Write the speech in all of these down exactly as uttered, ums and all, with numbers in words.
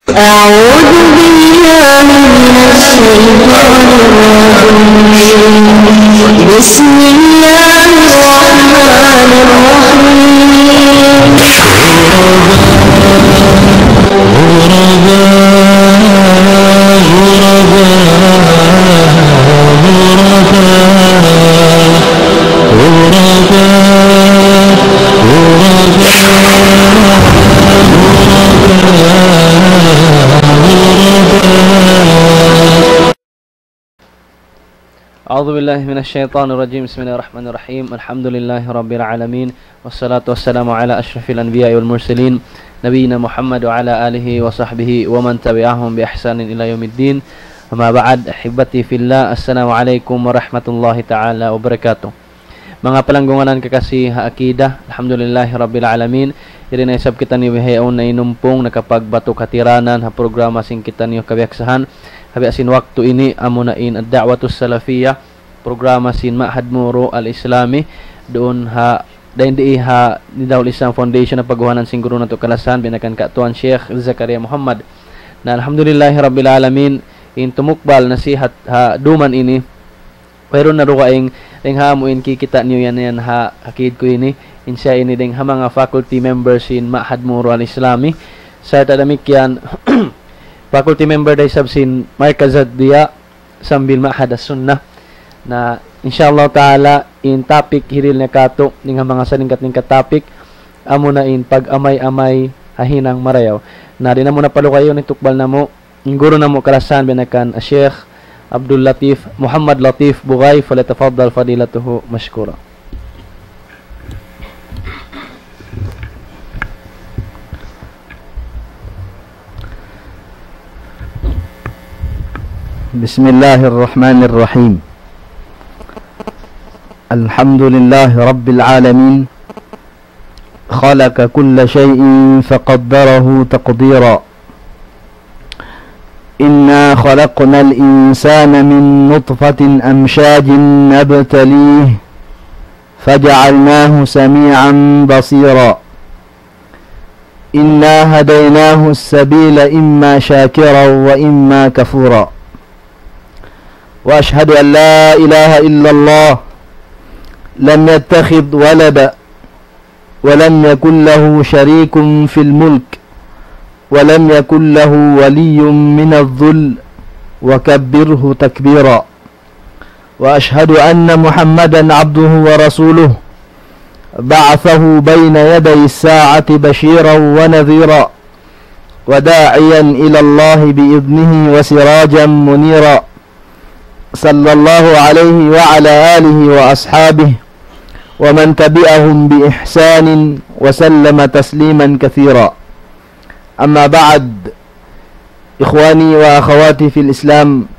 أعوذ بالله من الشيطان الرجيم. بسم الله الرحمن الرحيم. أعوذ بالله من الشيطان الرجيم. بسم الله الرحمن الرحيم. الحمد لله رب العالمين. والصلاة والسلام على أشرف الأنبياء والمرسلين، نبينا محمد وعلى آله وصحبه ومن تبعهم بإحسان إلى يوم الدين. أما بعد، أحبتي في الله، السلام عليكم ورحمة الله تعالى وبركاته. Manga palanggungan kakasi ha akida, alhamdulillahi rabbil alamin. Yari na isab kitaniyu bihaun na inumpung nakapagbatu katiranan ha programa sin kitaniyu kabiyaksahan. Ha biya' sin waktu ini, amuna in Ad-Da'watus Salafiyah, programa sin Ma'had Muru Al-Islami, duun ha, dayn di ha Nidahul Islam Foundation, ha paguhanan sin guru natu' kalasahan, binakan ka Tuan Sheikh Zakaria Muhammad. Na alhamdulillahi rabbil alamin, in tumukbal nasihat ha duman ini, wayruun na dugaing, dayn ha amu in kikita' niyu yan, yan ha akid ku ini. In siya ini dayn ha manga faculty members sin Ma'had Muru Al-Islami. Sarta' damikkiyan, faculty member da isab sin Markaz Ad-Diya sambil Ma'had As-Sunnah. Na, insha Allah ta'ala, in topic hirihil niya katu', dayn ha manga salingkat-lingkat topic, amuna in pag-amay-amay ha hinang marayaw. Na, di' namu' na palugayun in tukbal namu', in guru namu' kalasahan binakan Sheikh Abdul Latif, Muhammad Latif Bugay, فليتفضل فضيلته مشكورا. بسم الله الرحمن الرحيم. الحمد لله رب العالمين. خلق كل شيء فقدره تقديرا. إنا خلقنا الإنسان من نطفة أمشاج نبتليه فجعلناه سميعا بصيرا. إنا هديناه السبيل إما شاكرا وإما كفورا. وأشهد أن لا إله إلا الله لم يتخذ ولدا ولم يكن له شريك في الملك ولم يكن له ولي من الذل وكبره تكبيرا. وأشهد أن محمدا عبده ورسوله بعثه بين يدي الساعة بشيرا ونذيرا وداعيا إلى الله بإذنه وسراجا منيرا. صلى الله عليه وعلى آله وأصحابه ومن تبعهم بإحسان وسلم تسليما كثيرا. أما بعد، إخواني وأخواتي في الإسلام،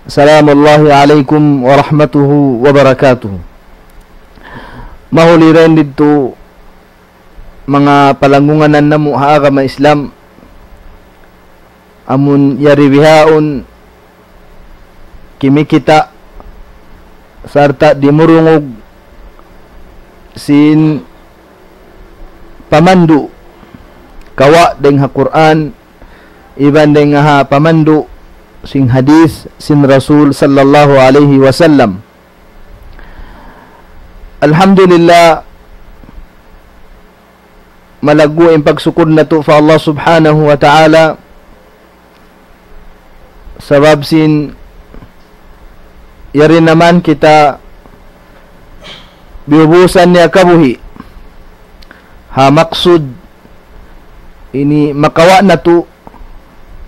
سلام الله عليكم ورحمته وبركاته. Mahuli dayn didtu manga palanggungan namu' ha agama Islam, amun yari bihaun kimikita' sarta' dimurungug sin pamandu' kawa' dayn ha Qur'an, iban dayn ha pamandu' sin hadith sin Rasul sallallahu alayhi wasallam. Alhamdulillah, malaggu' in pagsukur natu' pa Allah Subhanahu wa Ta'ala, sabab sin yari na man kita biyubusan niya kabuhi' ha maksud ini makawa' natu'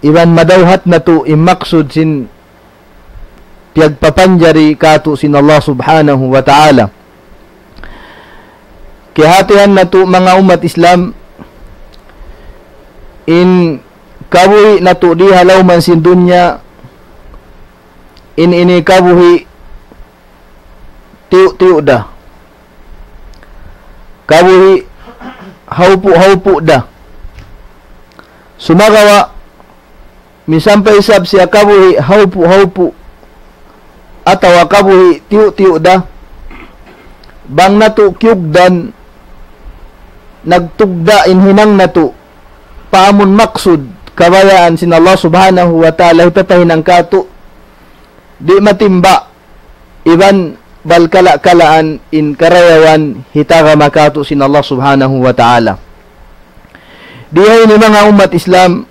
iban madawhat natu' in maksud sin piyagpapanjari katu' sin Allah Subhanahu wa Ta'ala. Kiyahatihan natu' manga ummat Islam, in kabuhi' natu' di ha lawm sin dunya, in ini kabuhi' tiyu'-tiyu' da. Kabuhi' hawpu'-hawpu' da. Sumagawa', misan pa isab siya kabuhi' hawpu'-hawpu' atawa kabuhi' tiyu'-tiyu' da, bang natu' kiyugdan, nagtugda' in hinang natu' pa amun maksud kabayaan sin Allah Subhanahu wa Ta'ala hipapahinang katu', di' matimba, iban bal kala-kalaan in karayawan hitagama katu' sin Allah Subhanahu wa Ta'ala. Di ha ini manga ummat Islam,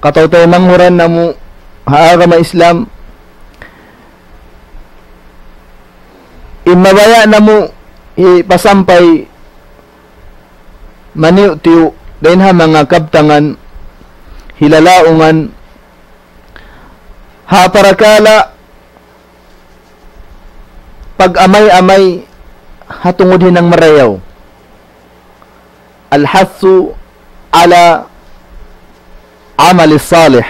kataw-taymanghuran namu' ha agama Islam, in mabaya' namu' hipasampay maniyu'-tiyu' dayn ha manga kabtangan, hilalaungan, ha parakala' pag-amay-amay ha tungud hinang marayaw. الحث على العمل الصالح.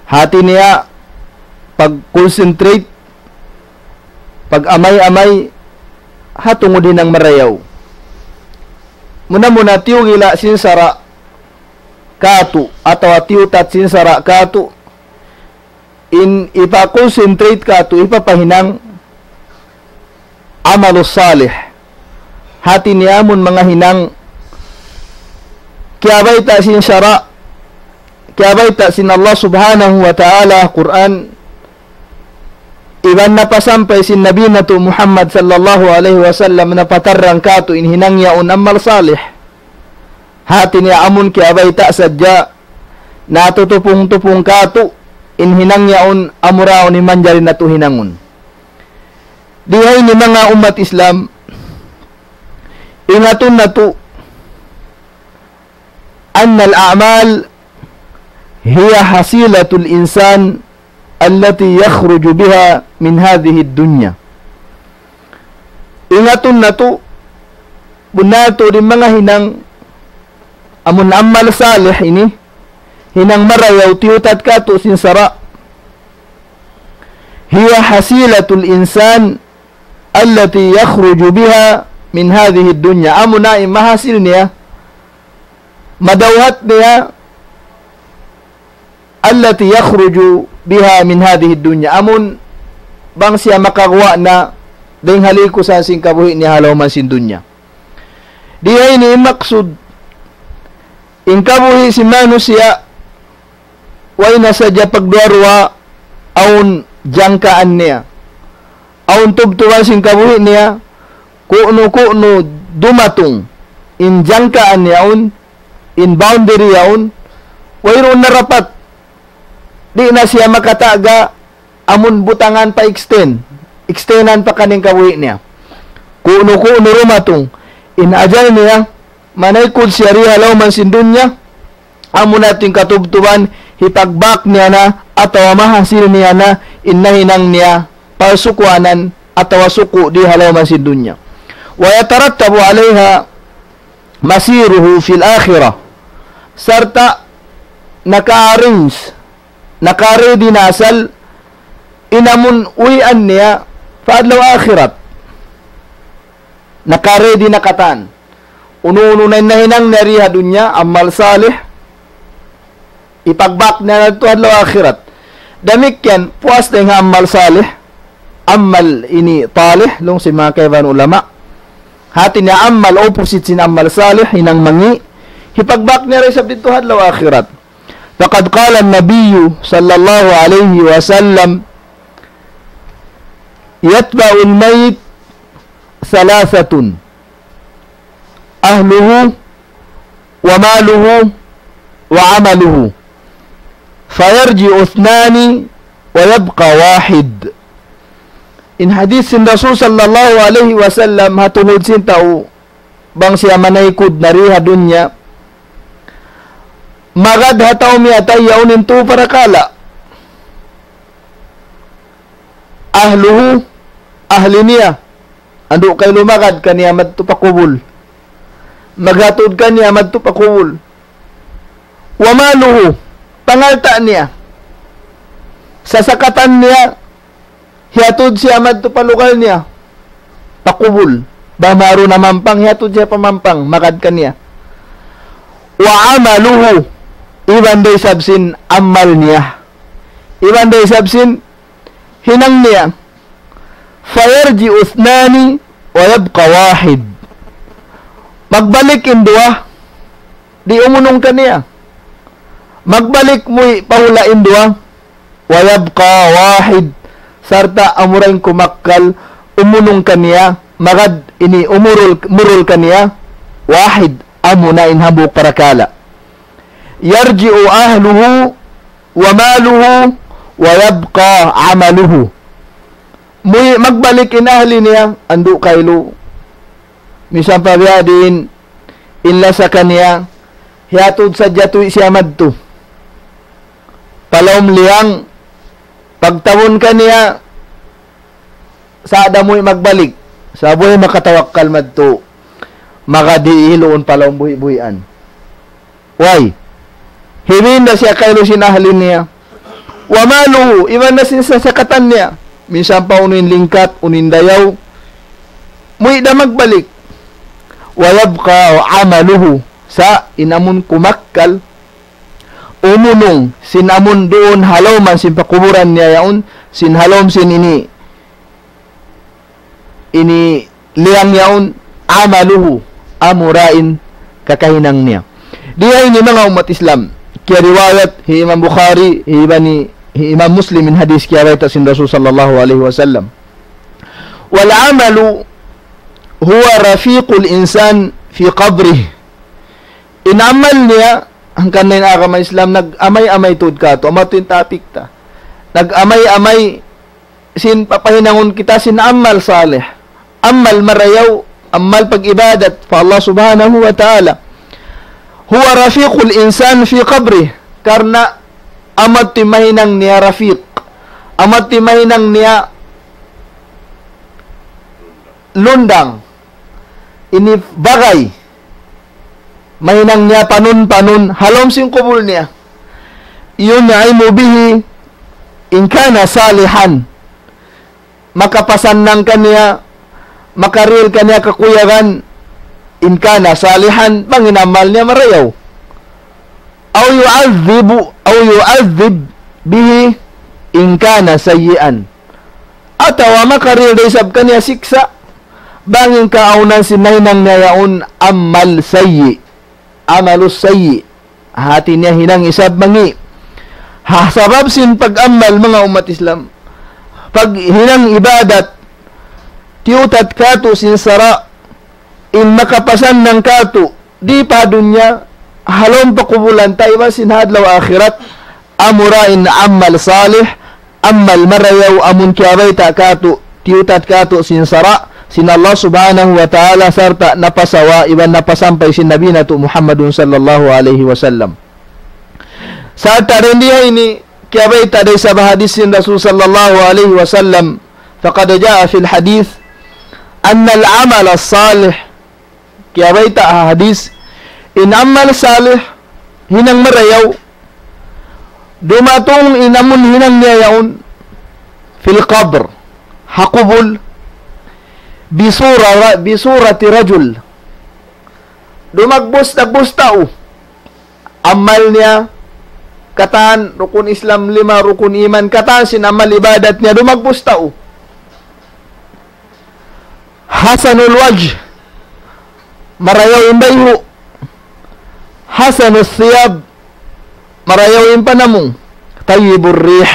Hati niya, pag-concentrate, pag-amay-amay, ha tungud hinang marayaw. Muna-muna tiyugila' sin sara' katu', atawa tiyutat sin sara' katu', in hipa-concentrate katu', hipapahinang amalus salih. Hati niya amun manga hinang kiyabayta' sin sara', kiyabayta' sin Allah Subhanahu wa Ta'ala Qur'an, iban napasampay sin Nabi natu' Muhammad sallallahu alayhi wasallam, napatarrang katu' in hinang yaun amal salih. Hati niya amun kiyabayta' sadja, natutupung-tupung katu' in hinang yaun, amura yaun in manjari natu' hinangun. Di ha ini manga ummat Islam, ingatun natu', أن الأعمال هي حصيلة الإنسان التي يخرج بها من هذه الدنيا. Ingatun natu', bunnal tuud in manga hinang amun amal salih ini, hinang marayaw tiyutat katu' sin sara'. هي حصيلة الإنسان التي يخرج بها من هذه الدنيا. Amuna in mahasil niya, madawhat niya, التي يخرج بها من هذه الدنيا. Amun bang siya makaguwa' na dayn ha likusan sin kabuhi' niya ha lawm sin dunya. Di ha ini in maksud, in kabuhi' sin manusiya', way na sadja pagduwa-ruwa, awn jangkaan niya. Awn tubtuban sin kabuhi' niya, ku'nu-ku'nu dumatung in jangkaan yaun, in boundary yaun, wayruun na rapat. Di' na siya makataga, amun butangan pa extend, extendan pa kaniya in kabuhi' niya. Ku'nu-ku'nu dumatung in ajal niya, manaykud siya di ha lawm sin dunya, amuna in katubtuban, hipagbak niya na, atawa mahasil niya na, in nahinang niya, pasukuanan, atawa suku' di ha lawm sin dunya. ويترتب عليها مصيره في الآخرة. Sarta' naka-arrange, naka-ready na asal in amun uwian niya pa adlaw akhirat. Naka-ready na katan. Unu-unu na in nahinang niya di ha dunya, amal salih, hipagbak niya na tuud adlaw akhirat. Damikkiyan, puas dayn ha amal salih, amal ini talih, laung sin manga kaibanan ulama. Hati niya amal opposite sin amal salih, hinang mangi', hipagbak niya da isab didtu ha adlaw akhirat. فقد قال النبي صلى الله عليه وسلم: يتبع الميت ثلاثة، أهله وماله وعمله، فيرجع اثنان ويبقى واحد. In hadith sin Rasul sallallahu alayhi wasallam ha tungud sin tau bang siya manaykud na di ha dunya, magad ha tau miyatay yaun in tū parakala'. Ahluhu, ahli niya. Andu' kailu magad kaniya madtu pa kubul. Maghatud kaniya madtu pa kubul. Wa maluhu, pangalta' niya. Sasakatan niya, hiyatud siya madtu pa lugal niya. Pa kubul. Bang maru na mampang, hiyatud siya pa mampang, magad kaniya. Wa amaluhu, iban da isab sin amal niya. Iban da isab sin hinang niya. فيرجع اثنان ويبقى واحد. Magbalik in duwa, Di' umunung kaniya. Magbalik muwi' pa hula' in duwa. ويبقى واحد. Sarta' amura in kumakkal umunung kaniya, magad ini umurul, murul kaniya, واحد, amuna in hambuuk parakala'. يرجع أهله وماله ويبقى عمله. Muwi' magbalik in ahli niya, andu' kailu. Misan pa biya' diin in lasa kaniya, hiyatud sadja tuud siya madtu. Pa lawm liyang, pagtabun kaniya, sa' da muwi' magbalik. Sa' buhi' makatawakkal madtu. Magad hiluun pa lawm buhi'-buhian. Way. Hibin da siya kailu sin ahli niya. وماله, iban na sin sasakatan niya. Minsan pa unu in lingkat, unu in dayaw. Muwi' da magbalik. ويبقى عمله. Sa' in amun kumakkal, umunung, sin amun duun ha lawman sin pakuburan niya yaun, sin ha lawm sin ini, ini liyang yaun, عمله, amura in kakahinang niya. Di ha ini manga ummat Islam, kiyariwayat hi Imam Bukhari, hi Ibani, hi Imam Muslim in hadis kiyabayta' sin Rasul sallallahu alayhi wasallam. والعمل هو رفيق الإنسان في قبره. In amal niya, hangkan na in agama Islam, nag-amay-amay tuud katu', amu yadtu in topic ta. Nag-amay-amay sin papahinangun kita sin amal salih. Amal marayaw, amal pag-ibadat pa Allah Subhanahu wa Ta'ala. هو رفيق الإنسان في قبره. Karna' amu yadtu in mahinang niya rafiq. Amu yadtu in mahinang niya lundang. Ini bagay. Mahinang niya panun-panun ha lawm sin kubul niya. ينعم به إن كان صالحا. Makapasannang kaniya, makarihil kaniya kakuyagan, إن كان صالحا, bang in amal niya marayaw. أو يعذب، أو يعذب به إن كان سيئا. Atawa makarihil da isab kaniya siksa', bang in kaawnan sin nahinang niya yaun amal sayyi', amalus sayyi'. Hati niya hinang isab mangi'. Ha, sabab sin pag-amal manga ummat Islam, paghinang ibadat, tiyutat katu' sin sara', in makapasannang katu', di' pa dunya, ha lawm pakubulan ta iban sin ha adlaw akhirat, amura in amal salih, amal marayaw amun kiyabayta' katu', tiyutat katu' sin sara', sin Allah Subhanahu wa Ta'ala sarta' napasawa iban napasampay sin Nabi natu' Muhammadun sallallahu alayhi wasallam. Sarta' dayn di ha ini, kiyabayta' da isab ha hadis sin Rasul sallallahu alayhi wasallam, فقد جاء في الحديث أن العمل الصالح. Kiyabayta' ha hadis, in amal salih, hinang marayaw, dumatung in amun hinang niya yaun, في القبر, ha kubul, بصورة، بصورة رجل. Dumagbus, dagbus tau. Amal niya, katan rukun Islam lima, rukun iman, katan sin amal ibadat niya, dumagbus tau. حسن الوجه, marayaw in bayhu'. حسن الثياب, marayaw in panamung. طيب الريح,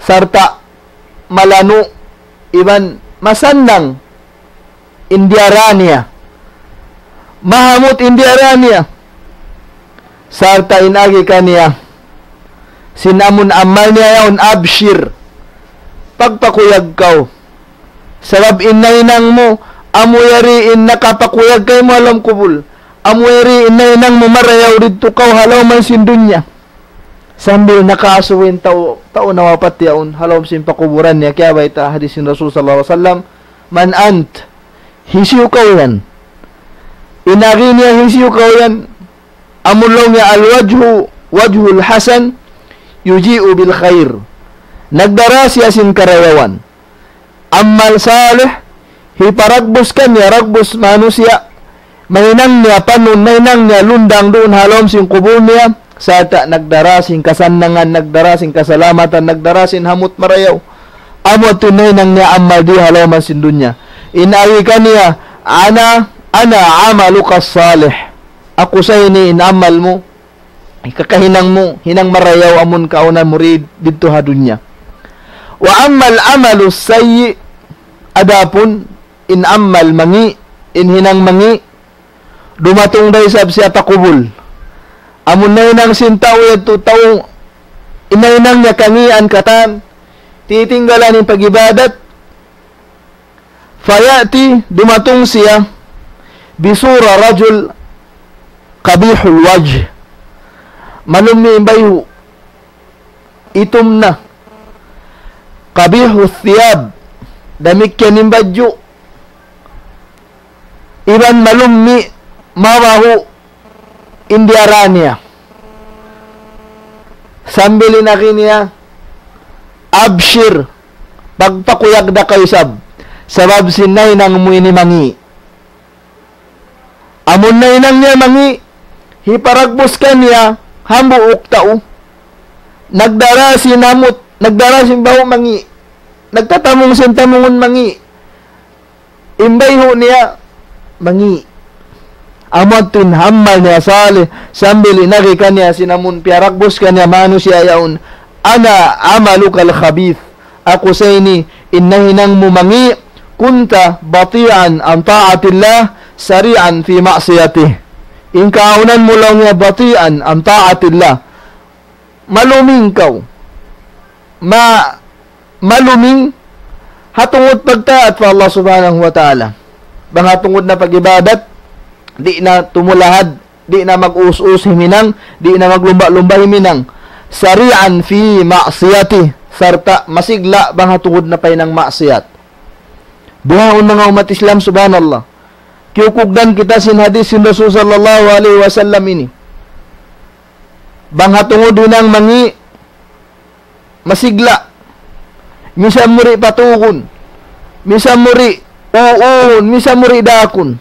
sarta' malanu' iban masannang in diyara niya. Mahamut in diyara niya. Sarta' in agi kaniya sin amun amal niya yaun, أبشر. Pagpakuyag kaw. Sabab in nahinang mu, amu yari in nakapakuyag kaymu ha lawm kubul. Amu yari in nahinang mu marayaw didtu kaw ha lawm sin dunya. Sambil nakaasubu in tau, tau nawapat yaun, ha lawm sin pakuburan niya, kiyabayta' hadis sin Rasul sallallahu alayhi wasallam, من أنت? Hisiyu kaw yan? In agi niya hisiyu kaw yan? Amu laung niya الوجه، وجه الحسن يجيء بالخير. Nagdara siya sin karayawan. Amal salih, hiparagbus kaniya, ragbus manusiya', mahinang niya panun, mahinang niya lundang duun ha lawm sin kubul niya, sarta' nagdara sin kasannangan, nagdara sin kasalamatan, nagdara sin hamut marayaw. Amu yadtu in nahinang niya amal di ha lawm sin dunya. In agi kaniya, أنا، أنا عملك الصالح. aku sa ini in amal mu, kakahinang mu, hinang marayaw amun kaawnan mu di, didtu ha dunya. وأما العمل السيء, adapun in amal mangi', in hinang mangi', dumatung da isab siya pa kubul. Amun nahinang sin tau yadtu tau, in nahinang niya kangian katan, titinggalan in pag-ibadat, فيأتي, dumatung siya, بصورة رجل قبيح الوجه. Malummi' in bayhu', itum na. قبيح الثياب, damikkiyan in badju'. Iban malummi', mabahu' in diyara niya. Sambil in agi niya, "Abshir, pagpakuyag da kaw isab, sabab sin nahinang mu ini mangi'." Amun nahinang niya mangi', hiparagbus kaniya hambuuk tau. Nagdara sin hamut, nagdara sin bahu' mangi'. Nagtatamung sin tamungun mangi'. In bayhu' niya mangi'. Amu yadtu in amal niya salih, sambil in agi kaniya sin amun piyaragbus kaniya manusiya' yaun, "أنا عملك الخبيث." Aku sa ini in nahinang mu mangi', "كنت بطيئا عن طاعة الله سريعا في معصيته." In kaawnan mu laung niya بطيئا عن طاعة الله. Maluming kaw. Ma-, maluming ha tungud pagtaat pa Allah Subhanahu wa Ta'ala. Bang ha tungud na pag-ibadat, di' na tumulahad, di' na mag-us-us himinang, di' na maglumba-lumba himinang. سريعا في معصيته, sarta' masigla' bang ha tungud na pahinang maksiyat. Bihaun manga ummat Islam, subhanallah. Kiyukugdan kita sin hadith sin Rasul sallallahu alayhi wasallam ini. Bang ha tungud hinang mangi', masigla'. Misan mu di' patugun. Misan mu di' uun. Misan mu di' daakun.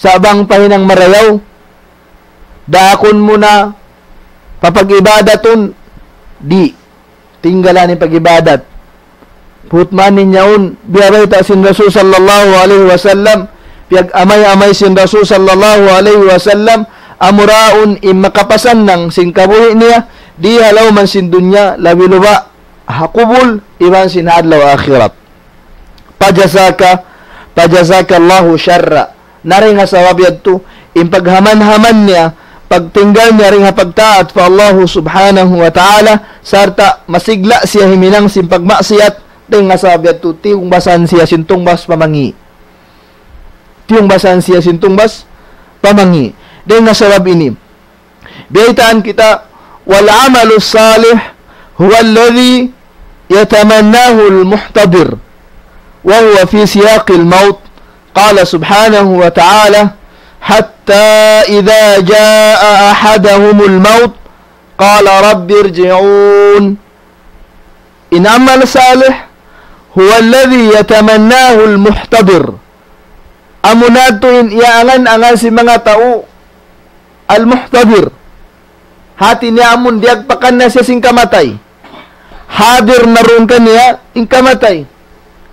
Sa' bang pahinang marayaw, daakun mu na papag-ibadatun, di'. Tinggalan in pag-ibadat. Putmanin yaun, biya' bayta' sin Rasul sallallahu alayhi wasallam, piyag-amay-amay sin Rasul sallallahu alayhi wasallam, amura yaun in makapasannang sin kabuhi' niya, di ha lawm sin dunya, labi-labi ha kubul, iban sin adlaw akhirat. فجزاك، فجزاك الله شرا. Na dayn ha sabab yadtu, in paghaman-haman niya, pagtinggal niya dayn ha pagtaat pa Allah Subhanahu wa Ta'ala, sarta' masigla' siya himinang sin pagmaksiyat, dayn ha sabab yadtu, tiyungbasan siya sin tungbas pa mangi'. Tiyungbasan siya sin tungbas pa mangi'. Dayn ha sabab ini, biyaytaan kita, والعمل الصالح هو الذي يتمناه المحتضر وهو في سياق الموت. قال سبحانه وتعالى: حتى إذا جاء أحدهم الموت قال رب ارجعون. In amal salih, هو الذي يتمناه المحتضر. Amuna yadtu in iyaangan-angan sin manga tau al-muhtadir. Hati niya amun diyagpakan na siya sin kamatay. Hadir na duun kaniya in kamatay.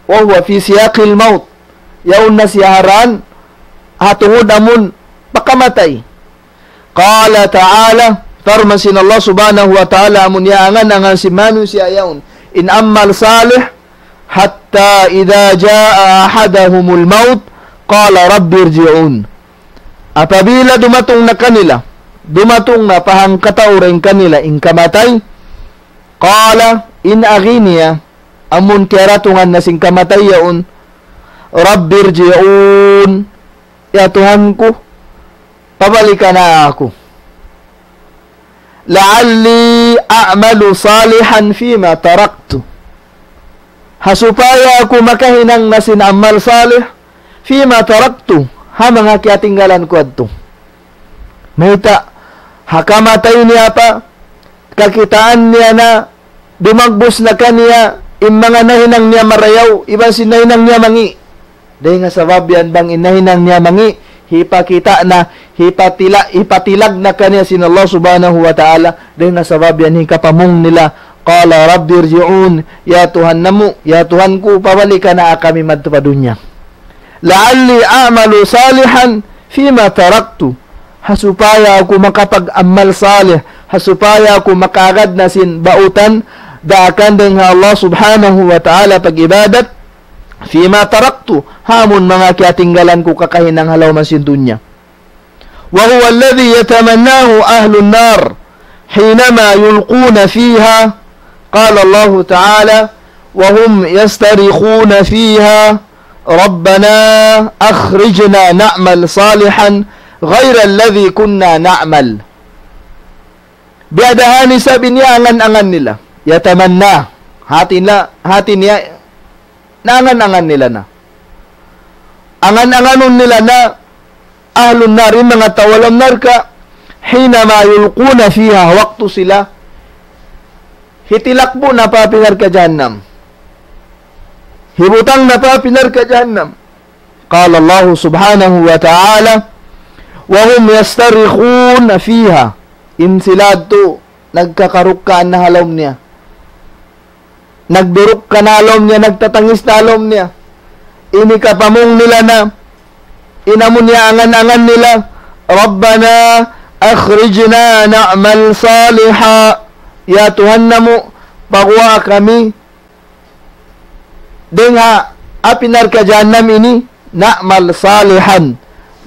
وهو في سياق الموت. Yaun na siya ha daakan, ha tungud amun pakamatay. قال تعالى, parman sin Allah Subhanahu wa Ta'ala, amun iyaangan-angan sin manusiya' yaun in amal salih, حتى إذا جاء أحدهم الموت قال رب ارجعون. Apabila dumatung na kanila, dumatung na pa hangkatau dayn kanila in kamatay, قال, in agi niya, amun kiyaratungan na sin kamatay yaun, رب ارجعون, ya Tuhan ku, pabalikan na aku. لعلي أعمل صالحا فيما تركت. Ha supaya aku makahinang na sin amal salih, فيما تركت, ha manga kiyatinggalan ku yadtu. Mayta', ha kamatay niya pa, kakitaan niya na, dumagbus na kaniya, in manga nahinang niya marayaw, iban sin nahinang niya mangi'. Dayn ha sabab yan bang in nahinang niya mangi', hipakita' na, hipatila-, hipatilag na kaniya sin Allah Subhanahu wa Ta'ala, dayn ha sabab yan hikapamung nila, قال رب ارجعون, ya Tuhan namu', ya Tuhan ku, pabalikan na kami madtu pa dunya. لعلي أعمل صالحا فيما تركت. ha supaya aku makapag-amal salih, ha supaya aku makaagad na sin bautan, daakan dayn ha Allah Subhanahu wa Ta'ala pag-ibadat, فيما تركت, ha amun manga kiyatinggalan ku kakahinang ha lawm sin dunya. وهو الذي يتمناه أهل النار حينما يلقون فيها، قال الله تعالى: وهم يصطرخون فيها: ربنا أخرجنا نعمل صالحا غير الذي كنا نعمل. Biya' da ha ini isab in iyangan-angan nila. Yatamanna. Hati nila, hati niya, naangan-angan nila na. Angan-anganun nila na ahlun nar, in manga tau ha lawm narka', حينما يلقون فيها, waktu sila hitilakbu' na pa api narka' jahannam. Hibutang na pa api narka' jahannam. قال الله سبحانه وتعالى: وهم يصطرخون فيها. In sila yadtu nagkakarukkaan na ha lawm niya. Nagdurukka na ha lawm niya, nagtatangis na ha lawm niya. Ini kapamung nila na, in amun iyangan-angan nila, ربنا أخرجنا نعمل صالحا. Ya Tuhan namu', paguwaa kami dayn ha api narka' jahannam ini, نعمل صالحا.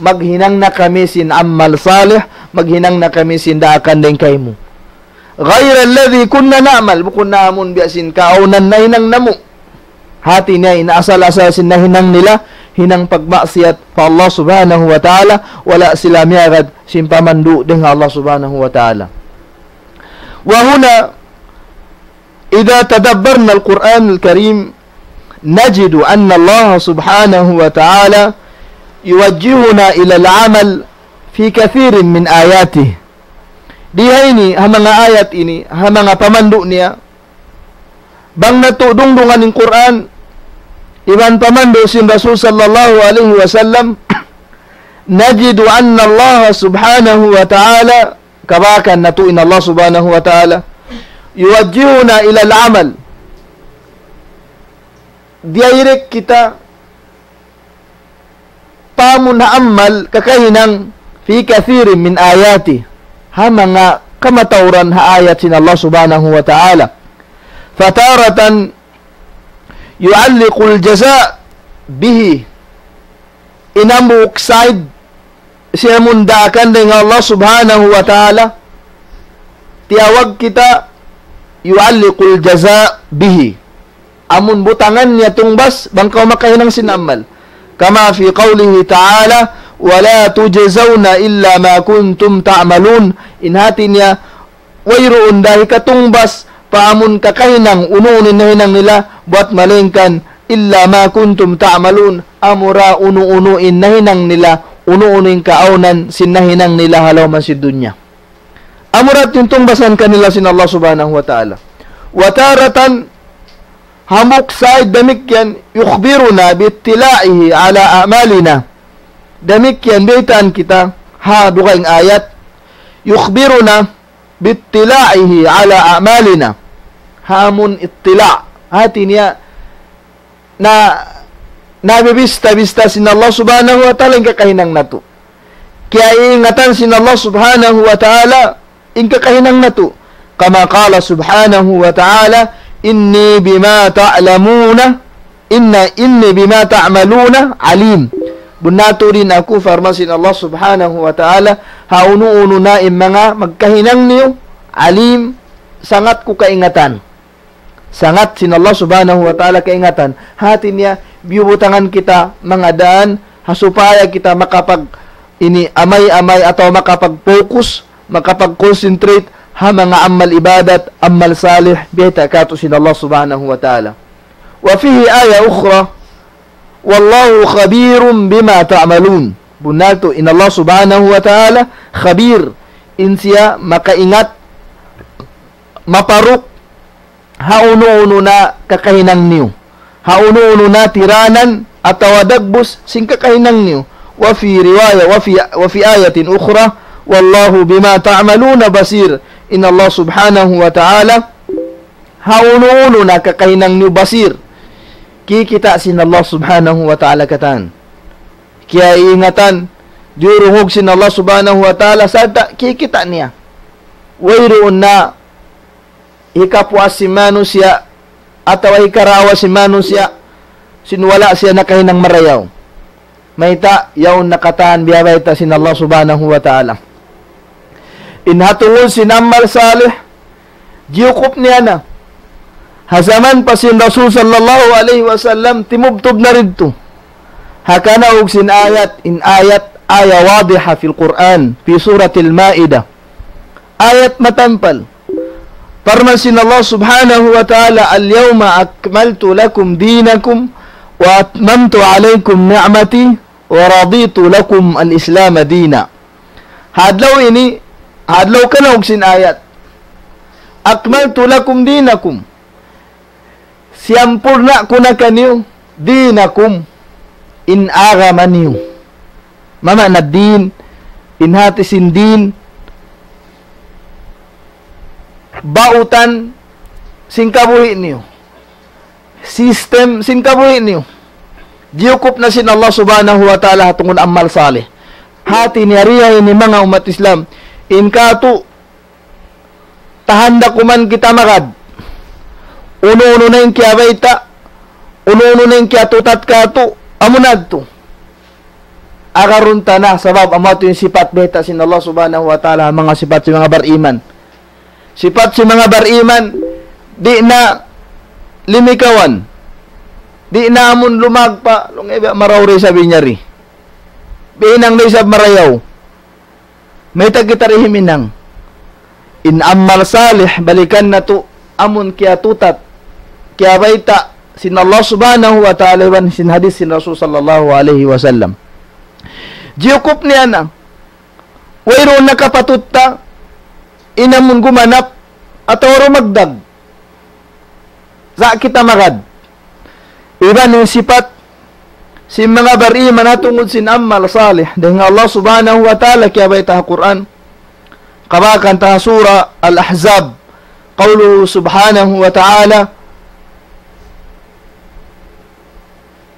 Maghinang na kami sin amal salih, maghinang na kami sin daakan dayn kaymu. غير الذي كنا نعمل, bukun na amun biya' sin kaawnan nahinang namu'. Hati niya in asal-asal sin nahinang nila, hinang pagmaksiyat pa Allah Subhanahu wa Ta'ala, wala' sila miyagad sin pamandu' dayn ha Allah Subhanahu wa Ta'ala. وهنا إذا تدبرنا القرآن الكريم نجد أن الله سبحانه وتعالى يوجهنا إلى العمل في كثير من آياته. Di ha ini, ha manga ayat ini, ha manga pamandu' niya, bang natu' dungdungan in Qur'an, iban pamandu' sin Rasul sallallahu alayhi wasallam, نجد أن الله سبحانه وتعالى, kabakan natu' in Allah Subhanahu wa Ta'ala, يوجهنا إلى العمل. Direct kita pa amun ha amal kakahinang, في كثير من آياته, ha manga kamatauran ha ayat sin Allah Subhanahu wa Ta'ala. فتارة يعلق الجزاء به. In hambuuk side sin amun daakan dayn ha Allah Subhanahu wa Ta'ala, tiyawag kita يعلق الجزاء به. Amun butangan niya tungbas, bang kaw makahinang sin amal. كما في قوله تعالى: ولا تجزون إلا ما كنتم تعملون. In hati niya, wayruun da hikatungbas pa amun kakahinang unu-unu in nahinang nila, buwat malaingkan إلا ما كنتم تعملون, amura unu-unu in nahinang nila, unu-unu in kaawnan sin nahinang nila ha lawm sin dunya. Amura yadtu in tungbasan kanila sin Allah Subhanahu wa Ta'ala. وتارة, hambuuk side damikkiyan, يخبرنا باطلاعه على أعمالنا. Damikkiyan, biyaytaan kita, ha dugaing ayat, يخبرنا باطلاعه على أعمالنا. Ha amun ittila', hati niya, na, nabibista-bista sin Allah Subhanahu wa Ta'ala in kakahinang natu'. Kiyaiingatan sin Allah Subhanahu wa Ta'ala in kakahinang natu'. كما قال سبحانه وتعالى: إني بما تعلمون, إن, إني بما تعملون عليم. Bunnal tuud in aku, parman sin Allah Subhanahu wa Ta'ala, ha unu-unu na in manga magkahinang niyu, alim, sangat ku kaingatan. Sangat sin Allah Subhanahu wa Ta'ala kaingatan. Hati niya, biyubutangan kita manga daan, ha supaya kita makapag-, ini, amay-amay atawa makapag-focus, makapag-concentrate ha manga amal ibadat, amal salih, biyayta' katu' sin Allah Subhanahu wa Ta'ala. وفيه آية أخرى: والله خبير بما تعملون. Bunnal tuud, in Allah Subhanahu wa Ta'ala, khabir, in siya makaingat, maparuk, ha unu-unu na kakahinang niyu. Ha unu-unu na tiranan atawa dagbus sin kakahinang niyu. وفي رواية، وفي، وفي آية أخرى: والله بما تعملون بصير. In Allah Subhanahu wa Ta'ala, ha unu-unu na kakahinang niyu basir. Kikita' sin Allah Subhanahu wa Ta'ala katan. Kiyaiingatan, diyurungug sin Allah Subhanahu wa Ta'ala, sarta' kikita' niya. Wayruun na hikapuas sin manusiya' atawa hikarawa sin manusiya' sin wala' siya nakahinang marayaw. Mayta', yaun na katan biyabayta' sin Allah Subhanahu wa Ta'ala. In ha tungud sin amal salih, jiyukup niya na. Ha jaman pa sin Rasul sallallahu alayhi wasallam, timubtub na didtu. Ha kanaug sin ayat, in ayat, aya wadiha fil Qur'an, fi suratil Ma'idah. Ayat matampal. Parman sin Allah Subhanahu wa Ta'ala, اليوم أكملت لكم دينكم وأتممت عليكم نعمتي ورضيت لكم الإسلام دينا. Ha adlaw ini, ha adlaw kanaug sin ayat. أكملت لكم دينكم. Siyampurna' ku na kaniyu, دينكم, in agama niyu. Mama na din, in hati sin din, bautan sin kabuhi' niyu. System sin kabuhi' niyu. Jiyukup na sin Allah Subhanahu wa Ta'ala ha tungud amal salih. Hati niya riya ini manga ummat Islam. In katu', tahanda kuman kita magad. Unu-unu na in kiyabayta', unu-unu na in kiyatutat katu', amu na yadtu. Agarun ta na, sabab amu yadtu in sipat bayta' sin Allah Subhanahu wa Ta'ala, manga sipat sin manga bariman. Sipat sin manga bariman, di' na limikawan. Di' na amun lumagpa', laung niya biya' marayaw da isab in yari. Biya' hinang da isab marayaw. Mayta' kita di' himinang. In amal salih, balikan natu', amun kiyatutat, kiyabayta', sin Allah Subhanahu wa Ta'ala iban sin hadith sin Rasul sallallahu alayhi wasallam. Jiyukup niya na, wayruun na kapatut ta, in amun gumanap, atawa rumagdag. Sa' kita magad. Iban in sipat sin manga bariman ha tungud sin amal salih. Dayn ha Allah Subhanahu wa Ta'ala kiyabayta' ha Qur'an. Kabakan ta ha Surah Al-Ahzab. قوله سبحانه وتعالى: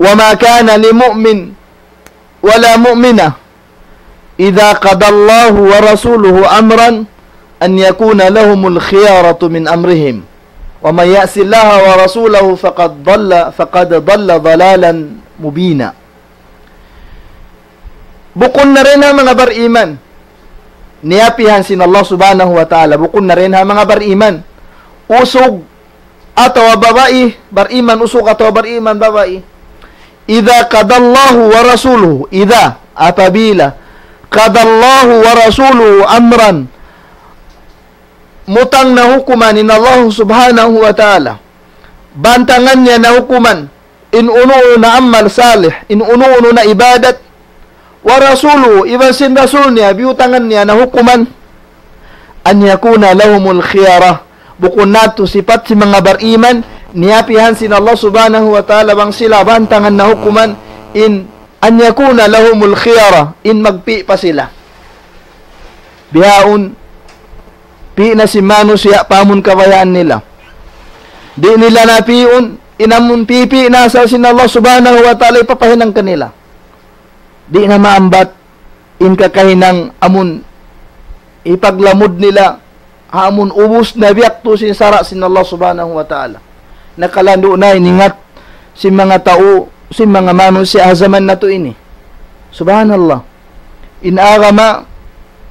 وما كان لمؤمن ولا مؤمنة إذا قضى الله ورسوله أمرا أن يكون لهم الخيرة من أمرهم ومن يعص الله ورسوله فقد ضل، فقد ضل ضلالا مبينا. Bukun na dayn ha manga bariman. Niyapihan sin Allah Subhanahu wa Ta'ala. Bukun na dayn ha manga bariman. Usug atawa babai, bariman usug atawa bariman babai. إذا قضى الله ورسوله, إذا, apabila, قضى الله ورسوله أمرا, mutang na hukuman in Allah Subhanahu wa Ta'ala, bantangan niya na hukuman, in unu-unu na amal salih, in unu-unu na ibadat, ورسوله, iban sin Rasul niya, biyutangan niya na hukuman, أن يكون لهم الخيرة. Bukun na yadtu sipat sin manga bariman, niyapihan sin Allah Subhanahu wa Ta'ala bang sila bantangan na hukuman, in أن يكون لهم الخيرة, in magpi' pa sila. Bihaun, pi' na sin manusiya' pa amun kabayaan nila. Di' nila na pi'un, in amun pipi' na asal sin Allah Subhanahu wa Ta'ala hipapahinang kanila. Di' na maambat in kakahinang amun hipaglamud nila, ha amun ubus na biyaktu sin sara' sin Allah Subhanahu wa Ta'ala. Nakalandu' na in ingat sin manga tau, sin manga manusiya' ha jaman natu' ini. Subhanallah. In agama,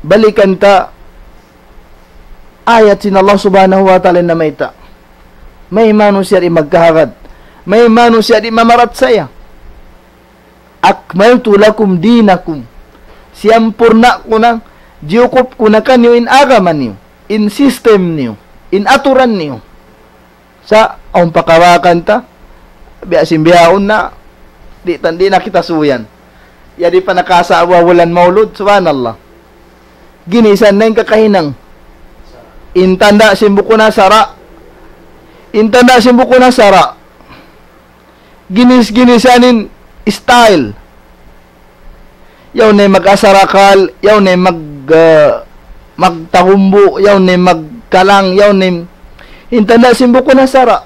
balikan ta ayat sin Allah Subhanahu wa Ta'ala namayta'. May manusiya' di' magkahagad. May manusiya' di' mamarachaya. أكملت لكم دينكم. Siyampurna' ku na, jiyukup ku na kaniyu in agama niyu, in system niyu, in aturan niyu. Sa' awn pakawakan ta, biya' sin bihaun na, di' tan, di' na kita suyan. Ya di' pa nakasa' abu bulan maulud, subhanallah. Ginisan na in kakahinang. In tanda' sin bukun ha sara'. In tanda' sin bukun ha sara'. Ginis-ginisan in style. Yaun na in mag-asarakal, yaun na in mag, ah, magtahumbu', yaun na in magkalang, yaun na in, in tanda' sin bukun ha sara'.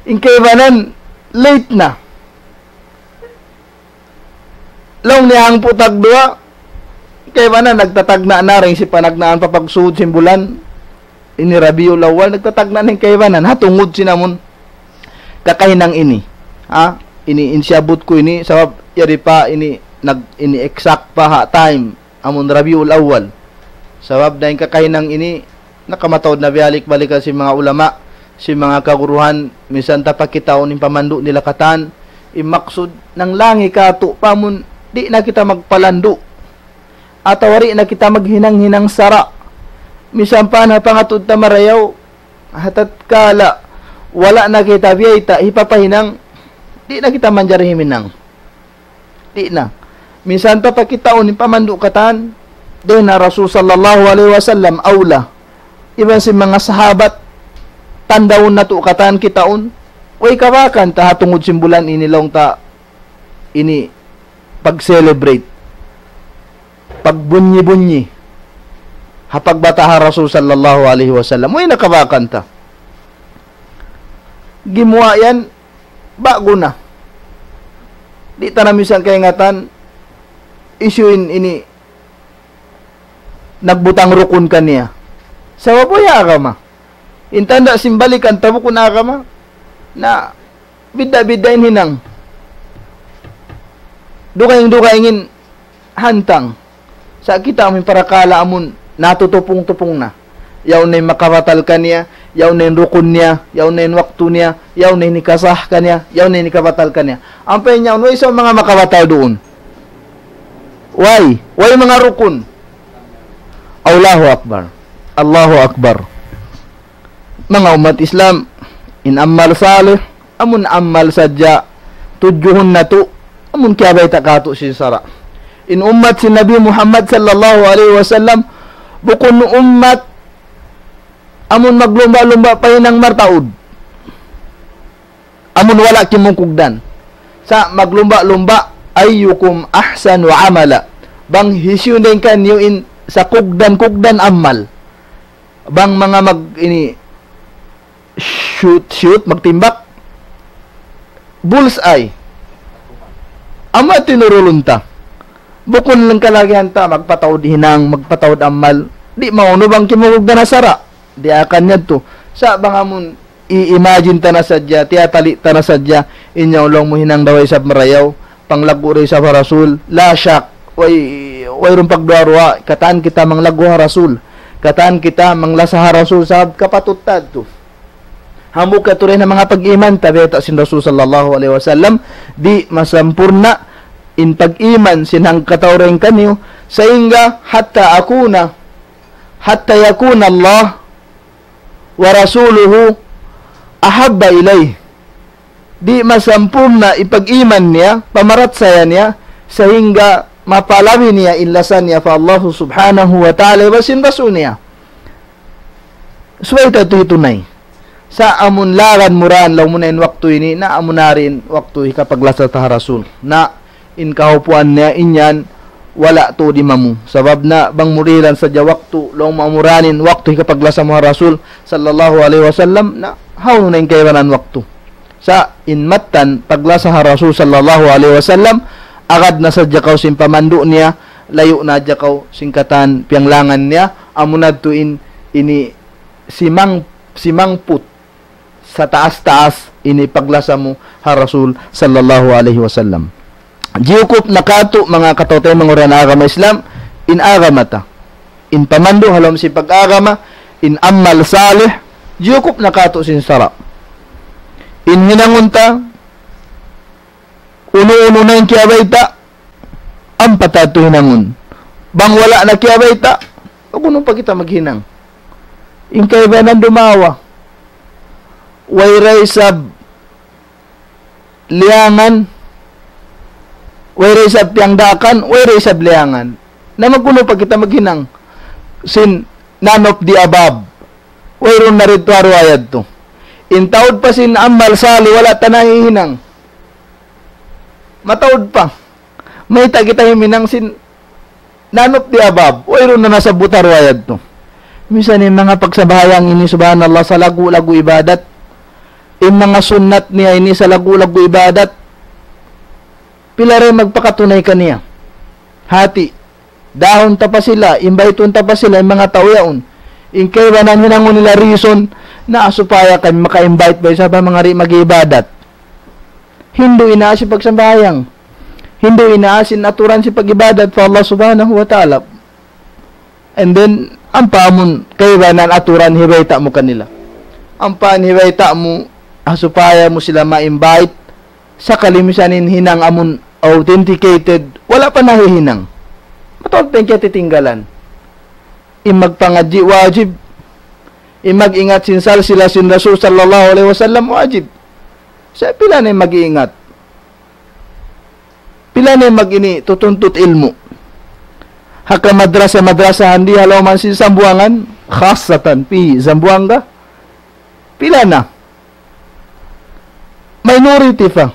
In kaibanan, late na. Laung niya hangpu' tagduwa, kaibanan nagtatagna' na dayn sin panagnaan pa pagsuud sin bulan. Ini Rabiul Awwal, nagtatagna' na in kaibanan. Ha tungud sin amun kakahinang ini. Ha? Ini, in siyabut ku ini, sabab yari pa ini, nag, ini exact pa ha time. Amun Rabiul Awwal. Sabab dayn kakahinang ini, nakamataud na biyalik-balikan sin manga ulama, sin manga kaguruhan, minsan ta pa kitaun in pamandu' nila katan, in maksud, nanglangi katu' pa amun, di' na kita magpalandu', atawa di' na kita maghinang-hinang sara'. Minsan pa na pangatud ta marayaw, ha tatkala, wala' na kita biyayta', hipapahinang, di' na kita manjari himinang. Di' na. Minsan ta pa kitaun in pamandu' katan, dayn ha Rasul sallallahu alayhi wasallam, awla. Iban sin manga sahabat, tandaun natu' katan kitaun. Way kabakan ta ha tungud sin bulan ini laung ta ini pag-celebrate. Pagbunyi-bunyi. Ha pagbata' ha Rasul sallallahu alayhi wasallam. Way na kabakan ta. Gimuwa' yan, ba'gu na. Di' ta na minsan kaingatan, hisiyu in ini nagbutang rukun kaniya. Sabab way agama. In tanda' sin balikan ta bukun agama, na bidda'-bidda' in hinang. Dugaing-dugaing in hantang. Sa' kita' amu in parakala' amun natutupung-tupung na. Yaun na in makabatal kaniya, yaun na in rukun niya, yaun na in waktu niya, yaun na in hikasah kaniya, yaun na in hikabatal kaniya. Ampa in yaun, way isab manga makabatal duun. Way, way manga rukun. Allahu Akbar. Allahu Akbar. Manga ummat Islam, in amal salih, amun amal sadja tudjuhun natu', amun kiyabayta' katu' sin sara'. In ummat sin Nabi Muhammad sallallahu alayhi wasallam, bukun ummat amun maglumba'-lumba' pa hinang mataud. Amun wala' kimugdan. Sa' maglumba'-lumba', ayyukum ahsanu amala. Bang hisiyu dayn kaniyu in sakugdan-kugdan amal. Bang manga mag, ini, shoot, shoot, magtimbak. Bullseye. Amu tinurulun ta. Bukun lang kalagihan ta, magpataud hinang, magpataud amal. Di' maunu bang kimugdan ha sara'. Di' akan yadtu. Sa' bang amun i-imagine ta na sadja, tiyatali' ta na sadja, in yaun laung mu hinang da way isab marayaw, panglaggu' da isab ha Rasul, la shak, way, wayruun pagduwa-ruwa, katan kita manglaggu' ha Rasul, katan kita manglasa ha Rasul, sabab kapatut ta yadtu. Hambuuk katurin ha manga pag-iman, tabiat sin Rasul sallallahu alayhi wasallam, di' masampurna' in pag-iman sin hangkatau dayn kaniyu, sahingga hatta akuna, hatta yakuna Allah wa rasuluhu ahabba ilayh. Di' masampurna' in pag-iman niya, pamarachaya niya, sahingga mapalabi niya in lasa niya pa Allah subhanahu wa ta'ala iban sin Rasul niya. Subay ta tuud hitunay. Sa' amun laran mu ra, laung mu na in waktu ini, na amu na in waktu hikapaglasa ta ha Rasul. Na in kahupuan niya in yan, wala' tuud imamu. Sabab na bang mu dihilan sadja waktu, laung mu amu ra in waktu hikapaglasa mu ha Rasul sallallahu alayhi wasallam, na hawnu na in kaibanan waktu. Sa' in mattan paglasa ha Rasul sallallahu alayhi wasallam, agad na sadja kaw sin pamandu' niya, layu' na sadja kaw sin katan piyanglangan niya, amu na yadtu in ini simang-, simangput sataas-taas ini paglasa mu ha Rasul sallallahu alayhi wasallam. Jiyukup na katu' manga kataymanghuran agama Islam, in agama ta. In pamandu' ha lawm sin pag-agama, in amal salih, jiyukup na katu' sin sara'. In hinangun ta, unu-unu na in kiyabayta', ampa ta yadtu hinangun. Bang wala' na kiyabayta', unu pa kita maghinang. In kaibanan dumawa. Way da isab liyangan, way da isab piyangdaakan, way da isab liyangan. Na mag-unu pa kita maghinang sin none of the above. Wayruun na didtu ha duwa yadtu. In taud pa sin amal salih, wala' ta na hihinang. Mataud pa. Mayta' kita himinang sin none of the above. Wayruun na nasabbut ha duwa yadtu. Misan in manga pagsambahayang ini, subhanallah, salaggu'-laggu' ibadat. In manga sunnat niya ini, salaggu'-laggu' ibadat. Pila da in magpakatunay kaniya. Hati, dahun ta pa sila, invite-un ta pa sila, in manga tau yaun. In kaibanan hinangun nila reason, na supaya kami maka-invite pa isab ha manga di' mag-ibadat. Hindu' in aasi pagsambahayang. Hindu' in aasi in aturan sin pag-ibadat pa Allah Subhanahu wa Ta'ala. And then, ampa amun kaibanan aturan hibayta' mu kanila. Ampa hibayta' mu, ah, supaya mu sila ma-invite, sakali misan in hinang amun authenticated, wala' pa nahihinang. Mataud pa in kiyatitinggalan. In magpangadji' wajib. In mag-ingat sin salsila sin Rasul sallallahu alayhi wasallam wajib. Sa' pila na in mag-iingat? Pila na in mag-ini tutuntut ilmu'? Ha ka madrasa-madrasa handi ha lawm sin Sambuwangan, khasatan fi Zamboanga. Pila na? Minority pa.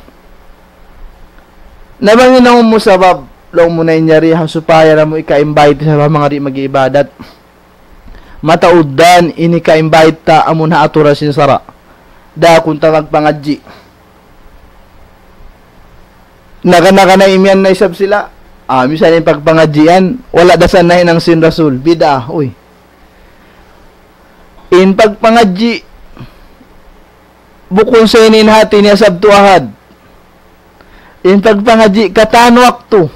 Na bang in awn mu sabab, laung mu na in yari ha supaya namu' ika-invite sa manga di' mag-iibadat. Mataud da in ika-invite ta amun ha aturan sin sara'. Daakun ta magpangadji'. Naga-naga na imiyan na isab sila. Ah, misan in pagpangadji' yan, wala' da sa nahinang sin Rasul. Bid'ah, uy. In pagpangadji', bukun sa ini in hati niya Sabtu Ahad. In pagpangadji' katan waktu.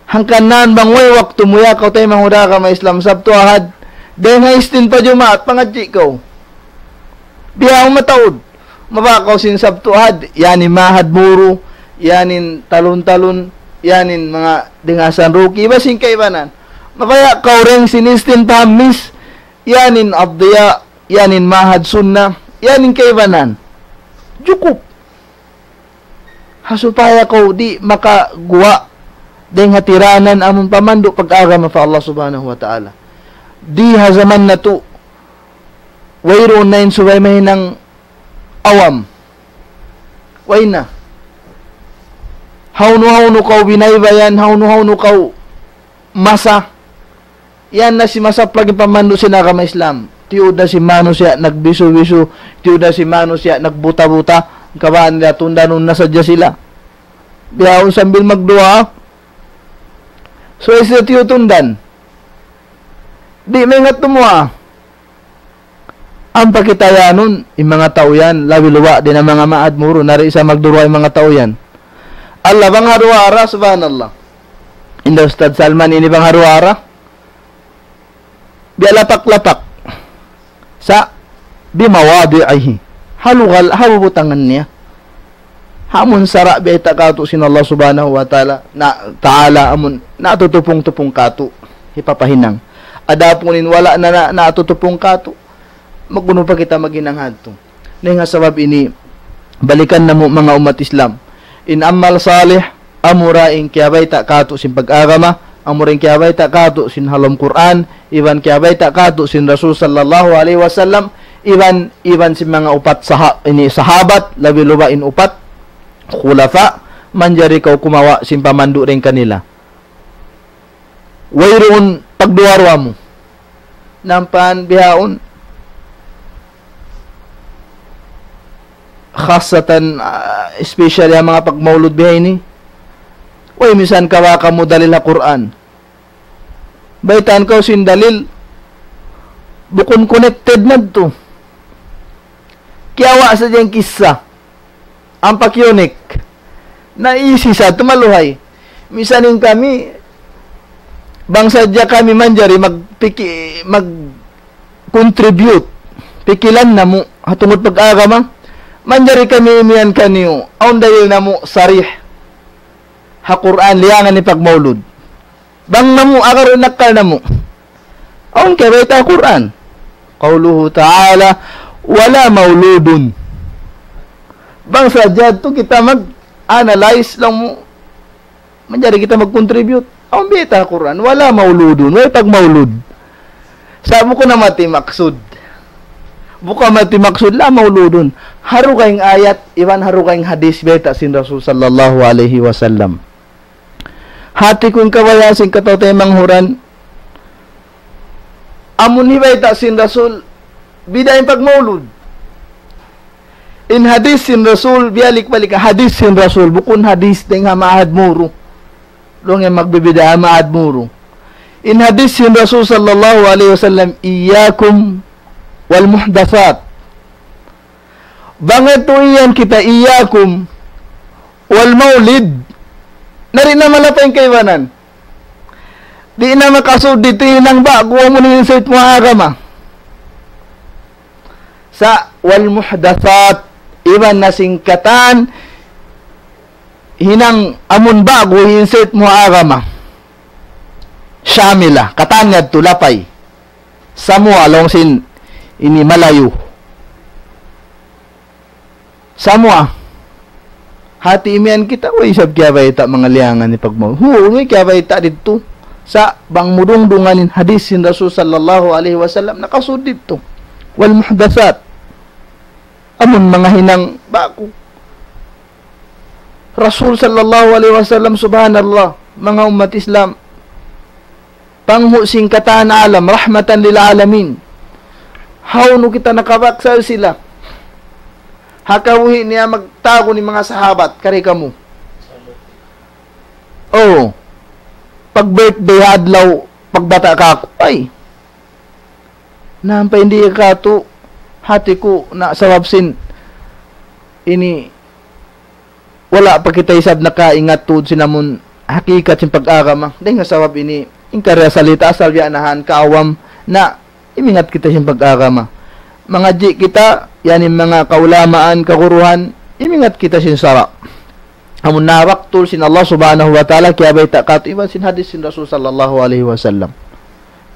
Hangkan na bang way waktu mu ya kaw taymanghud ha agama Islam Sabtu Ahad. Dayn ha istin pa Jumaat, pangadji' kaw. Bihaun mataud. Mabaya' kaw sin Sabtu Ahad, yan in Mahad Muru, yan in Talun-Talun, yan in manga Dingasan Ruki, iban sin kaibanan. Mabaya' kaw dayn sin istin pa Hamis, yan in Addiya, yan in Mahad Sunna, yan in kaibanan. Jukup. Ha supaya kaw di' makaguwa' dayn ha tiranan amun pamandu' pag-agama pa Allah Subhanahu wa Ta'ala. Di ha jaman natu', wayruun na in subay mahinang awam. Way na. Hawnu-hawnu kaw binaybayan, hawnu-hawnu kaw masa. Yan na simasa pa lagi' pamandu' sin agama Islam. Tiyuud na sin manusiya' nagbisu-bisu, tiyuud na sin manusiya' nagbuta-buta, kabaan nila tundanun na sadja sila. Bihaun sambil magduwaa. So, isa tiyutundan. Di' maingat tumuwaa. Ampa kita yanun, in manga tau yan, labi luba' di' na manga Mahad Muru, na di' sa magduruwa in manga tau yan. Allah, bang ha duwaa ra, subhanallah. Inda Ustadz Salman ini bang ha duwaa ra. Biya' lapak-lapak. Sa' bimawadi'ihi. Ha lugal, ha bubutangan niya. Ha amun sara' biyayta' katu' sin Allah Subhanahu wa Ta'ala, na, Ta'ala amun natutupung-tupung katu', hipapahinang. Adapun in wala' na, na, natutupung katu', magunu pa kita maghinang hadtu. Na in ha sabab ini, balikan namu' manga ummat Islam. In amal salih, amura in kiyabayta' katu' sin pag-agama, amura in kiyabayta' katu' sin ha lawm Qur'an, iban kiyabayta' katu' sin Rasul sallallahu alayhi wasallam, iban, iban sin manga upat saha-, ini sahabat, labi luba' in upat, khulafa, manjari kaw kumawa' sin pamandu' dayn kanila. Wayruun pagduwa-ruwa mu. Nampan bihaun. Khasatan, ah, especially ha manga pagmaulud bihaini. Way, misan kawa' kamu dalil ha Qur'an. Baytaan kaw sin dalil, bukun connected na tu. Kiyawa' sadja in kissa. Ampa kiyunik. Na isi sa tumaluhay. Misan in kami, bang sadja kami manjari magpiki-, mag-contribute. Pikilan namu', ha tungud pag-agama. Manjari kami imiyan kaniyu. Awn dalil namu' sarih. Ha Qur'an, liyangan in pagmaulud. Bang namu', agarun in akkal namu'. Awn kiyabayta' ha Qur'an. قوله تعالى: ولا مولود. Bang sadja tu kita mag-analyze laung mu, manjari kita mag-contribute. Awn biyayta' ha Qur'an, ولا مولود, way pagmaulud. Sa' bukun na mati maksud. Bukun mati maksud, لا مولود. Ha dugaing ayat, iban ha dugaing hadith biyayta' sin Rasul sallallahu alayhi wasallam. Hati ku in kabayaan sin kataw-taymanghuran. Amun hibayta' sin Rasul, bida' in pagmaulud. In hadith sin Rasul, biyalik-balik, hadith sin Rasul, bukun hadith dayn ha Mahad Muru. Laung niya magbibid'a maad muru. In hadith sin Rasul sallallahu alayhi wasallam, "Iyyakum wal muhdathat." Bang itu iyan kita, "Iyyakum wal maulid." Na di' na malapay in kaibanan. Di' na makasud didtu in ba'gu amun in sait mu agama. Sa' wal muhdathat, iban na sin katan hinang amun ba'gu in sait mu agama. Shamila, katan yadtu lapay. Samua laung sin ini Malayu. Samua. Hati imiyan kita, way isab kiyabayta' manga liyangan ni pagmaw. Hu, way kiyabayta' didtu. Sa' bang mu dungdungan in hadith sin Rasul sallallahu alayhi wasallam, nakasud didtu. Wal muhdathat. Amun manga hinang ba'gu. Rasul sallallahu alayhi wasallam, subhanallah, manga ummat Islam. Panghu' sin katan alam, rahmatan lil alamin. Hawnu kita nakabaksa sila. Ha kabuhi' niya magtagu in manga sahabat, kari kamu. Oh, pag birthday ha adlaw, pagbata' kaku', ay. Nampa in di' katu', hati ku na sabab sin ini wala' pa kita isab nakaingat tuud sin amun hakikat sin pag-agama. Dayn ha sabab ini, in kariya salita' asal biya' nahan kaawam na imingat kita sin pag-agama. Mangadji' kita, yan in manga kaulamaan, kaguruhan, imingat kita sin sara'. Amun nabaktul sin Allah Subhanahu wa Ta'ala, kiyabayta' katu' iban sin hadith sin Rasul sallallahu alayhi wasallam.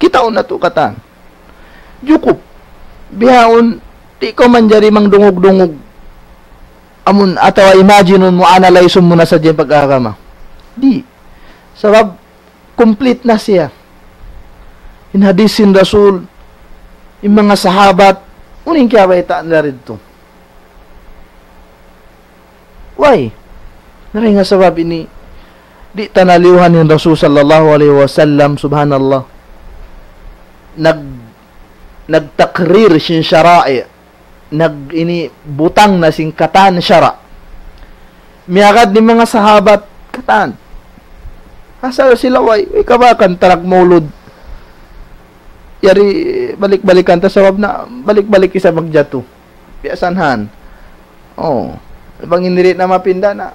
Kitaun natu' katan. Jukup. Bihaun, di' kaw manjari mangdungug-dungug. Amun, atawa imagine mu, analyze mu na sadja in pag-agama. Di'. Sabab, complete na siya. In hadith sin Rasul, in manga sahabat, unu in kiyabayta' nila didtu. Way. Na dayn ha sabab ini, di' ta naliyuhan in Rasul sallallahu alayhi wasallam, subhanallah. Nag-, nagtakrir sin shara'i', nag-, ini butang na sin katan sara'. Miyagad in manga sahabat, katan. Asal sila way, way kabakan tarag maulud. Yari balik-balikan ta sabab na balik-balik isab magjatu. Biya' san han. Oh, bang in di' na mapinda na.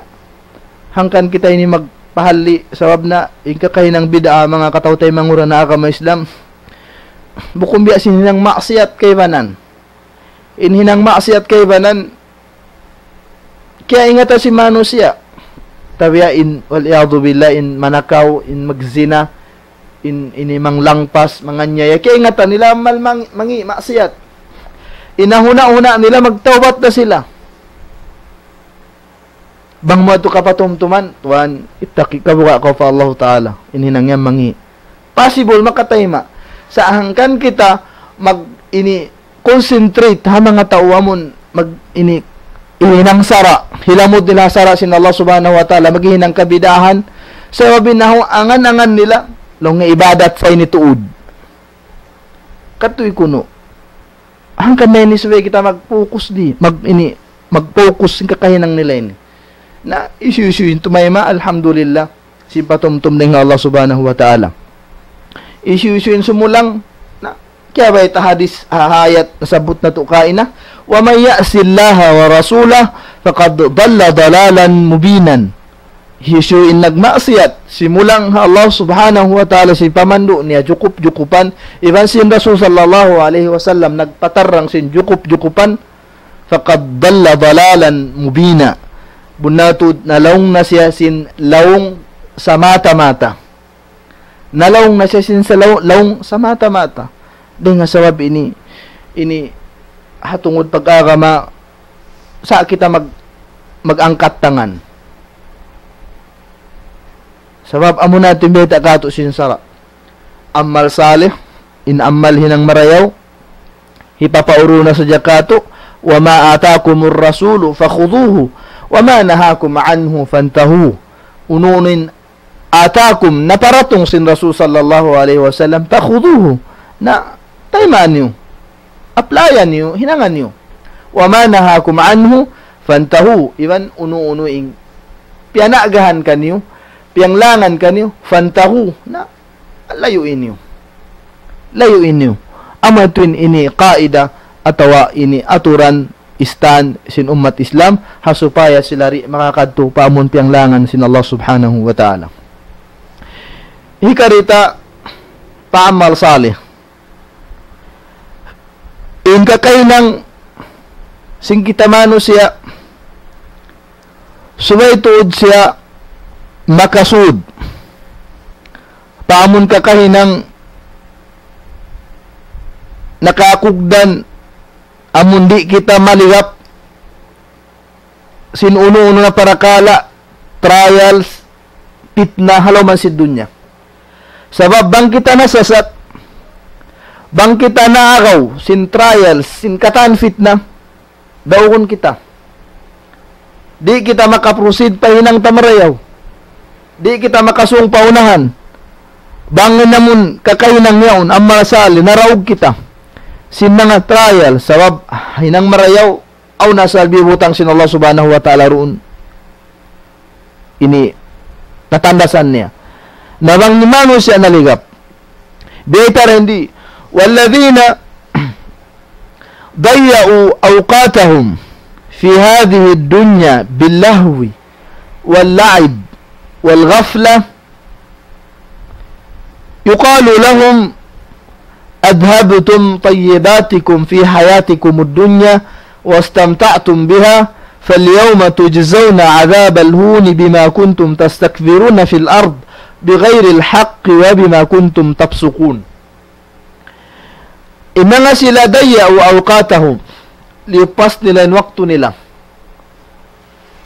Hangkan kita ini magpahalli', sabab na in kakahinang bid'a, manga kataw-taymanghuran ha agama Islam. Bukun biya' sin hinang maksiyat kaibanan. In hinang maksiyat kaibanan, kiyaingatan sin manusiya'. Tabiya' in, wal iyadhu billah, in manakaw, in magzina, in, ini manglangpas, manganyaya. Kiyaingatan nila amal mang-, mangi', maksiyat. In huna'-huna' nila magtawbat na sila. Bang mu yadtu kapatumtuman, tuwan, ittaqi, kabuga' kaw pa Allah Ta'ala. In hinang yan mangi'. Possible, makatayma'. Sa' hangkan kita mag-, ini, concentrate ha manga tau amun mag-, ini, hinang sara', hilamud nila sara' sin Allah Subhanahu wa Ta'ala, maghinang kabid'ahan. Sabab in nahu angan-angan nila, laung niya ibadat sa ini tuud. Katu' kunu'. Hangkan na ini subay kita mag-focus di, mag-, ini, mag-focus sin kakahinang nila ini. Na, hisiyu-siyu in tumayma', alhamdulillah. Sin patumtum dayn ha Allah Subhanahu wa Ta'ala. Hisiyu-siyu in sumulang, na, kiyabayta' hadith, ha-, ayat, nasabbut natu' kaina, وَمَن يَعْصِ اللَّهَ وَرَسُولَهُ فَقَدْ ضَلَّ ضَلَالًا مُّبِينًا. Hisiyu in nagmaksiyat, simulang ha Allah Subhanahu wa Ta'ala sin pamandu' niya jukup-jukupan, iban sin Rasul sallallahu alayhi wasallam nagpatarrang sin jukup-jukupan, فَقَدْ ضَلَّ ضَلَالًا مُّبِينًا. Bunnal tuud nalaung na siya sin laung samata-mata. Nalaung na siya sin sa laung, laung samata-mata. Dayn ha sabab ini, ini ha tungud pag-agama, sa' kita mag-, mag-angkat tangan. Sabab amu na in biyayta' katu' sin sara'. Amal salih, in amal hinang marayaw, hipapauru na sadja katu', وَمَا آتَاكُمُ الرَّسُولُ فَخُذُوهُ وَمَا نَهَاكُمْ عَنْهُ فَانْتَهُوا. Unu-unu in آتَاكُمْ, naparatung sin Rasul sallallahu alayhi wasallam, فَخُذُوهُ, na taymaan niyu, applyan niyu, hinangan niyu. وَمَا نَهَاكُمْ عَنْهُ فَانْتَهُوا, iban unu-unu in piyanagahan kaniyu, piyanglangan kaniyu, fantahu, na, layu' niyu. Layu' niyu. Amu yadtu in ini qaida atawa ini aturan istan sin ummat Islam, ha supaya sila di' makakadtu pa amun piyanglangan sin Allah Subhanahu wa Ta'ala. Hikari ta pa amal salih. In kakahinang sin kita manusiya', subay tuud siya makasud pa amun kakahinang nakakugdan amun di' kita maligap sin unu-unu na parakala', trials, pitna, ha lawm sin dunya. Sabab bang kita nasasat, bang kita naagaw sin trials, sin katan pitna, daugun kita. Di' kita makaproceed pa hinang ta marayaw. Di' kita makasung pa unahan. Bang in amun kakahinang yaun, amal salih, naraug kita sin manga trial, sabab hinang marayaw, awn asal biyutang sin Allah Subhanahu wa Ta'ala duun. Ini katandasan niya. Na bang in manusiya' naligap. Biyayta' hindi, والذين ضيعوا أوقاتهم في هذه الدنيا باللهو واللعب والغفلة يقال لهم أذهبتم طيباتكم في حياتكم الدنيا واستمتعتم بها فاليوم تجزون عذاب الهون بما كنتم تستكبرون في الأرض بغير الحق وبما كنتم تفسقون. In manga sila ضيعوا أوقاتهم, liyupas nila in waktu nila.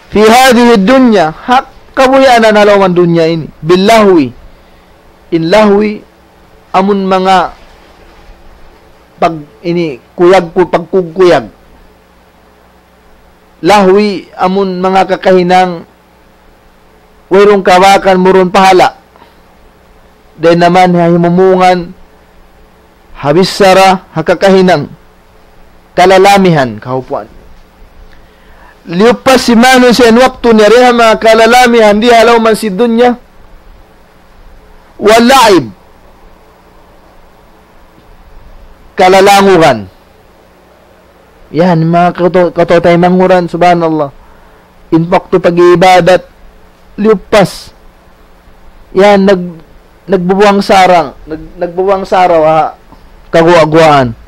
في هذه الدنيا, ha kabuhianan ha lawm dunya ini. باللهو. In lahwi, amun manga pag-, ini, kuyag ku, pagkugkuyag. Lahwi, amun manga kakahinang wayruun kabakan, murun pahala'. Dayn naman ha himumungan, ha bichara, ha kakahinang, kalalamihan, kahupuan. Liyupas sin manusiya' in waktu niya dayn ha manga kalalamihan di ha lawm sin dunya. واللعب. Kalalangugan. Yan, manga katu-, kataymanghuran, subhanallah. In waktu pag-iibadat, liyupas. Yan, nag-, nagbubuwang sarang, nag-, nagbubuwang saraw, ha, kaguwa-guwaan.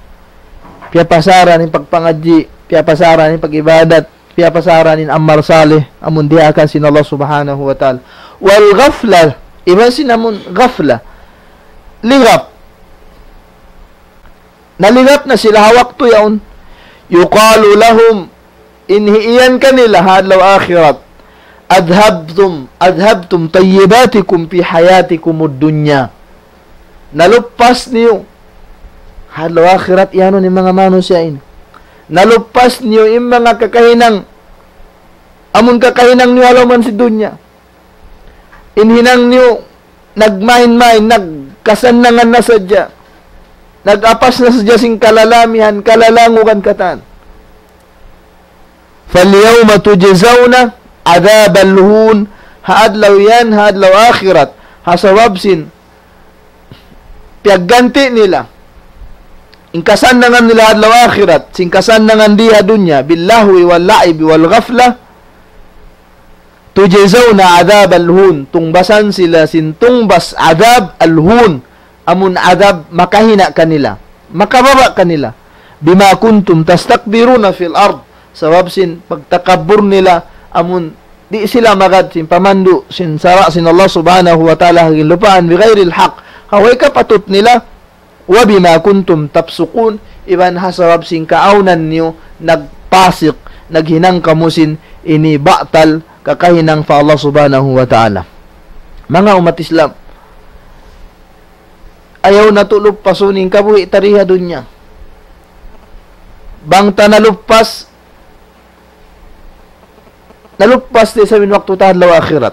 Piyapasaran in pagpangadji', piyapasaran in pag-ibadat, piyapasaran in amal salih, amun diyaakan sin Allah Subhanahu wa Ta'ala. والغفلة, iban sin amun ghafla. Ligap. Naligap na sila ha waktu yaun. يقال لهم, in hiiyan kanila ha adlaw akhirat, أذهبتم، أذهبتم طيباتكم في حياتكم الدنيا. Nalupas niyu ha adlaw akhirat, iyanun in manga manusiya' ini. Nalupas niyu in manga kakahinang, amun kakahinang niyu ha lawm sin dunya. In hinang niyu nagmain-main, nagkasannangan na sadja. Nag-apas na sadja sin kalalamihan, kalalangugan katan. فاليوم تجزون عذاب الهون. Ha adlaw yan, ha adlaw akhirat, ha sabab sin piyagganti' nila in kasannangan nila ha adlaw akhirat sin kasannangan di ha dunya, باللهو واللعب والغفلة, تجزون عذاب الهون, tungbasan sila sin tungbas adab al-hun, amun adab makahina' kanila, makababa' kanila. بما كنتم تستكبرون في الأرض, sabab sin pagtakabbur nila, amun di' sila magad sin pamandu' sin sara' sin Allah Subhanahu wa Ta'ala ha ginlupaan, بغير الحق, ha way kapatut nila, وبما كنتم تفسقون, iban ha sabab sin kaawnan niyu nagpasik, naghinang kamu sin ini batal, kakahinang pa Allah Subhanahu wa Ta'ala. Manga ummat Islam, ayaw natu' lupasun in kabuhi' ta di ha dunya. Bang ta nalupas, nalupas da isab in waktu ta ha adlaw akhirat.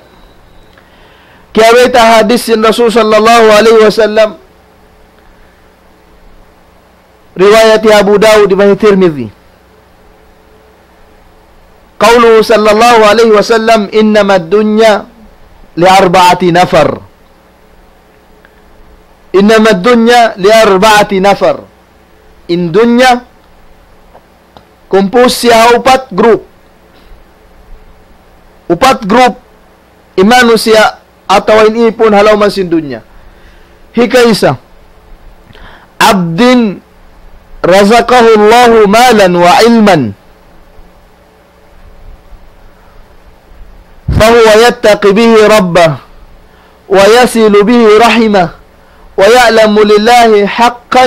Kiyabayta' hadis sin Rasul sallallahu alayhi wasallam, riwayat Abu Dawud iban Tirmidhi. قوله صلى الله عليه وسلم: إنما الدنيا لأربعة نفر. إنما الدنيا لأربعة نفر. In dunya, kumpus siya ha upat group. Upat group, in manusiya' atawa in ipun ha lawm sin dunya. Hikaisa, عبد رزقه الله مالا وعلما فهو يتقي به ربه ويصل به رحمه ويعلم لله حقا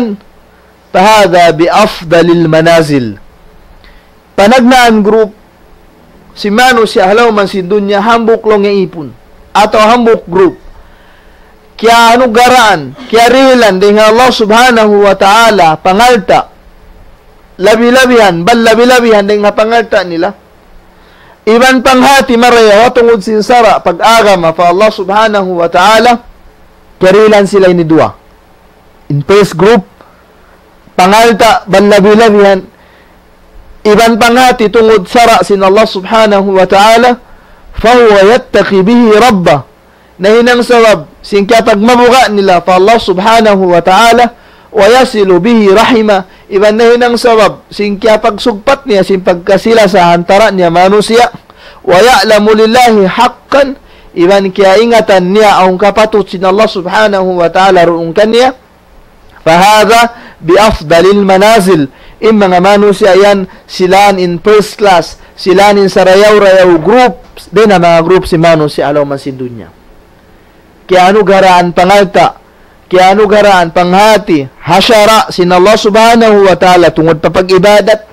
فهذا بأفضل المنازل. Panagnaan group sin manusiya' ha lawm sin dunya hambuuk laung niya ipun atawa hambuuk group. Kiyaanugarahan, kiyarihilan dayn ha Allah Subhanahu wa Ta'ala pangalta', labi-labihan, bang labi-labihan dayn ha pangalta' nila. Iban panghati marayaw ha tungud sin sara' pag-agama pa Allah Subhanahu wa Ta'ala, kiyarihilan sila ini duwa. In first group, pangalta' bang labi-labihan, iban panghati tungud sara' sin Allah Subhanahu wa Ta'ala, فهو يتقي به ربه. Nahinang sabab sin kiyapagmabuga' nila pa Allah Subhanahu wa Ta'ala, ويصل به رحمه. Iban nahinang sabab sin kiyapagsugpat niya sin pagkasi-lasa ha antara' niya manusiya', ويعلم لله حقا. Iban kiyaingatan niya awn kapatut sin Allah Subhanahu wa Ta'ala duun kaniya. فهذا بأفضل المنازل. In manga manusiya' yan, sila in first class, sila in sarayaw-rayaw group dayn ha manga group sin manusiya' ha lawm sin dunya. Kiyaanugarahan pangalta', kiyaanugarahan panghati ha sara' sin Allah Subhanahu wa Ta'ala tungud pa pag-ibadat.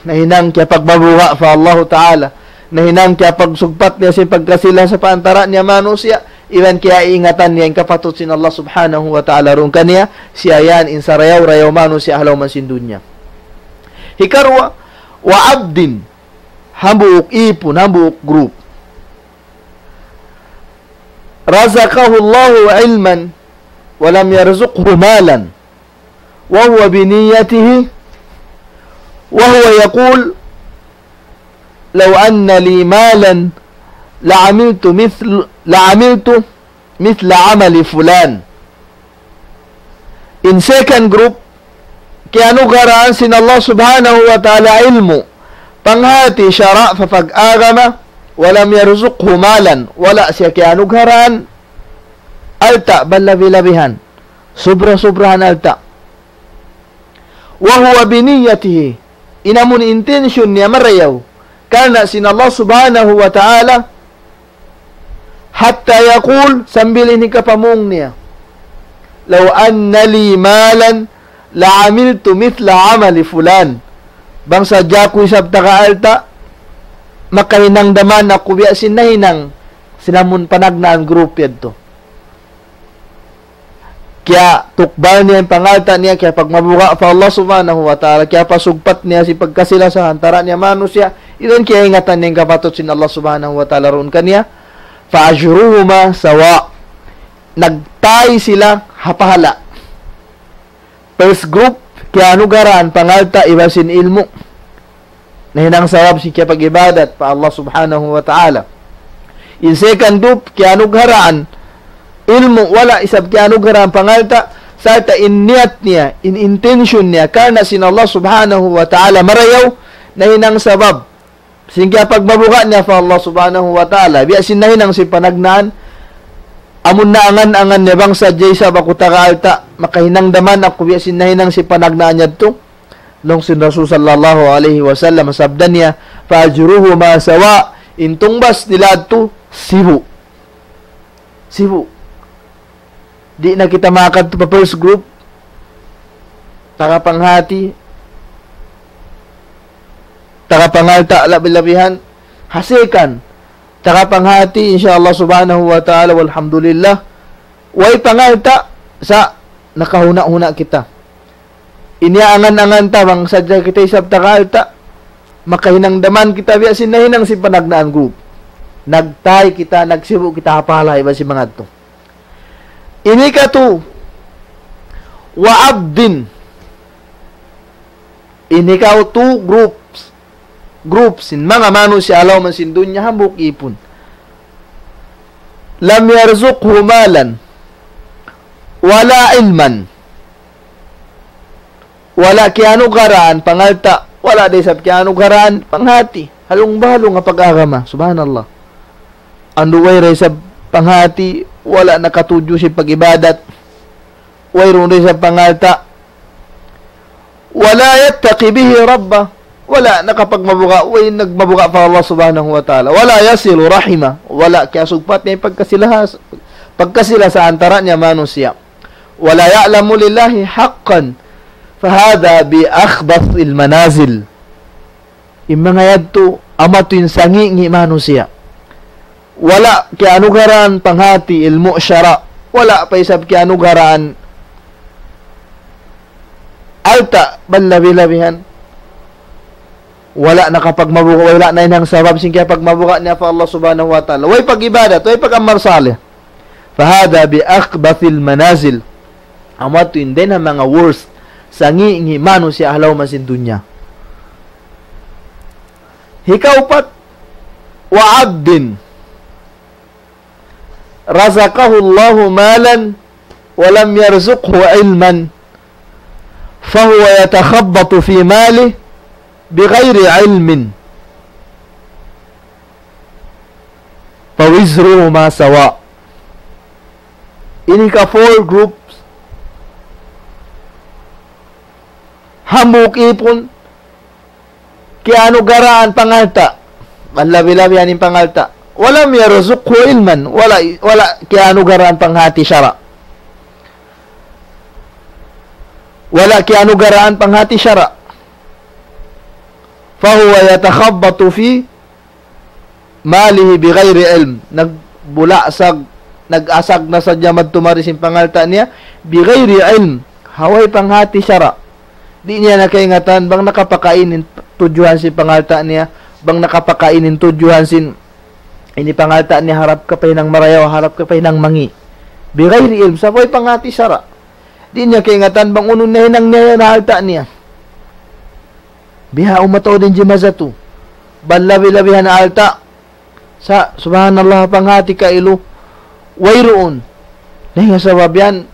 Nahinang kiyapagmabuga' pa Allahu Ta'ala. Nahinang kiyapagsugpat niya sin pagkasi-lasa pa antara' niya manusiya'. Iban kiyaingatan niya in kapatut sin Allah Subhanahu wa Ta'ala duun kaniya. Siya yan in sarayaw-rayaw manusiya' ha lawm sin dunya. Hikaruwa, وعبد, hambuuk ipun, hambuuk group. رزقه الله علما ولم يرزقه مالا وهو بنيته وهو يقول لو أن لي مالا لعملت مثل، لعملت مثل عمل فلان. In second group, kiyanugarahan sin Allah Subhanahu wa Ta'ala ilmu', panghati sara' pa pag-agama, ولم يرزقه مالا, wala' siya kiyanugarahan alta' bang labi-labihan, subra-subrahan alta'. وهو بنيته, in amun intention niya marayaw, karna' sin Allah Subhanahu wa Ta'ala, حتى يقول, sambil ini kapamung niya, لو أن لي مالا لعملت مثل عمل فلان. Bang sadja aku isab taga alta', makahinang da man aku biya' sin nahinang sin amun panagnaan group yadtu. Kiyatukbal niya in pangalta' niya, kiyapagmabuga' pa Allah Subhanahu wa Ta'ala, kiyapasugpat niya sin pagkasi-lasa ha antara' niya manusiya', iban kiyaingatan niya in kapatut sin Allah Subhanahu wa Ta'ala duun kaniya, فأجرهما سواء. Nagtay sila ha pahala'. First group, kiyanugarahan pangalta' iban sin ilmu'. Nahinang sabab sin kiyapag-ibadat pa Allah Subhanahu wa Ta'ala. In second group, kiyanugarahan ilmu', wala' isab kiyanugarahan pangalta', sarta' in niyat niya, in intention niya, karna' sin Allah Subhanahu wa Ta'ala marayaw, nahinang sabab sin kiyapagmabuga' niya pa Allah Subhanahu wa Ta'ala, biya' sin nahinang sin panagnaan, amun naangan-angan niya bang sadja isab aku taga alta', makahinang da man aku biya' sin nahinang sin panagnaan yadtu. Laung sin Rasul sallallahu alayhi wasallam, sabda niya, فأجرهما سواء, in tungbas nila yadtu, sibu'. Sibu'. Di' na kita makadtu pa first group. Taga panghati, taga pangalta' labi-labihan. Ha second, taga panghati, insya Allah Subhanahu wa Ta'ala, walhamdulillah. Way pangalta', sa' nakahuna'-huna' kita. Ini angan-angan ta bang sadja kita isab taga alta', makahinang da man kita biya' sin nahinang sin panagnaan group. Nagtay kita, nagsibu' kita ha pahala' iban sin manga yadtu. Ini katu, وعبد. Ini katu groups. Groups sin manga manusiya' ha lawm sin dunya hambuuk ipun. لم يرزقه مالا ولا علما. Wala' kiyanugaraan pangalta', wala' da isab kiyanugaraan panghati. Halung-bahalung ha pag-agama. Subhanallah. Andu' way da isab panghati, wala' nakatudju sin pag-ibadat. Wayruun da isab pangalta'. ولا يتقي به ربه. Wala' nakapagmabuga', way nagmabuga' pa Allah Subhanahu wa Ta'ala. ولا يصل رحمه. Wala' kiyasugpat niya in pagkasila-, pagkasila sa antara' niya manusiya'. ولا يعلم لله حقا. فهذا بأخبث المنازل. In manga yadtu, amu yadtu in sangi'-ngi' manusiya'. Wala' kiyanugaraan panghati ilmu' sara'. Wala' pa isab kiyanugaraan alta' bang labi-labihan. Wala' nakapagmabuga', wala' nahinang sabab sin kiyapagmabuga' niya pa Allah Subhanahu wa Ta'ala. Way pag-ibadat, way pag-amal salih. فهذا بأخبث المنازل. Amu yadtu in dayn ha manga worst, sangi'-ngi' manusiya' ha lawm sin dunya. Hikaupat, وعبد رزقه الله مالا ولم يرزقه علما فهو يتخبط في ماله بغير علم فوزرهما سواء. Ini ka four groups. Hambuuk ipun, kiyanugaraan pangalta'. Bang labi-labi in pangalta'. ولم يرزقه علما. Wala', wala' kiyanugaraan panghati sara'. Wala' kiyanugaraan panghati sara'. فهو يتخبط في ماله بغير علم. Nagbulasag, nag-asag na sadja madtu mari sin pangalta' niya, بغير علم. Ha way panghati sara'. Di' niya na kaingatan, bang nakapakain in tudjuhan sin pangalta' niya, bang nakapakain in tudjuhan sin ini pangalta' niya harap kapahinang marayaw, harap kapahinang mangi'. بغير علم, sa' way panghati sara'. Di' niya kaingatan, bang unu in nahinang niya yan ha alta' niya. Bihaun mataud in jimatu. Bang labi-labihan alta'. Sa', subhanallah, panghati kailu. Wayruun. Dayn ha sabab yan,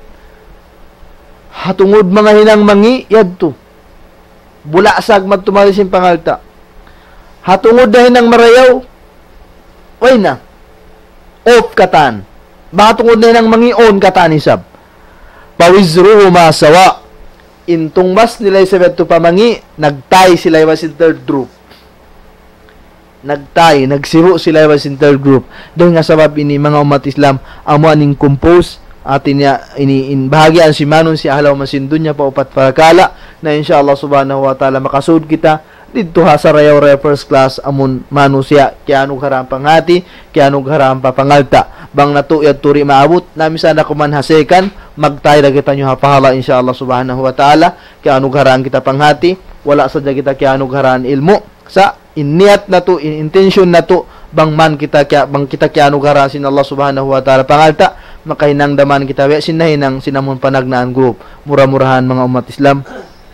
ha tungud manga hinang mangi', yadtu. Bulasag madtu mari sin pangalta'. Ha tungud na hinang marayaw, way na. Off katan. Bang ha tungud na hinang mangi', on katan isab. فوزرهما سواء. In tungbas nila isab yadtu pa mangi', nagtay sila iban sin third group. Nagtay, nagsibu' sila iban sin third group. Dayn ha sabab ini, manga ummat Islam, amu in compose, hati niya ini, in bahagian sin manusiya' ha lawm sin dunya pa upat parakala', na insya Allah Subhanahu wa Ta'ala makasud kita didtu ha sarayaw-rayaw first class amun manusiya' kiyanugaraan panghati, kiyanugaraan pa pangalta'. Bang natu' yadtu di' maabut, na misan da kuman ha second, magtay da kitaniyu ha pahala insya Allah Subhanahu wa Ta'ala, kiyanugaraan kita panghati, wala' sadja kita kiyanugaraan ilmu', sa' in niyat natu', in intention natu', bang man kita kiya-, bang kita kiyanugaraan sin Allah Subhanahu wa Ta'ala pangalta', makahinang da man kita biya' sin nahinang sin amun panagnaan group. Mura-murahan manga ummat Islam,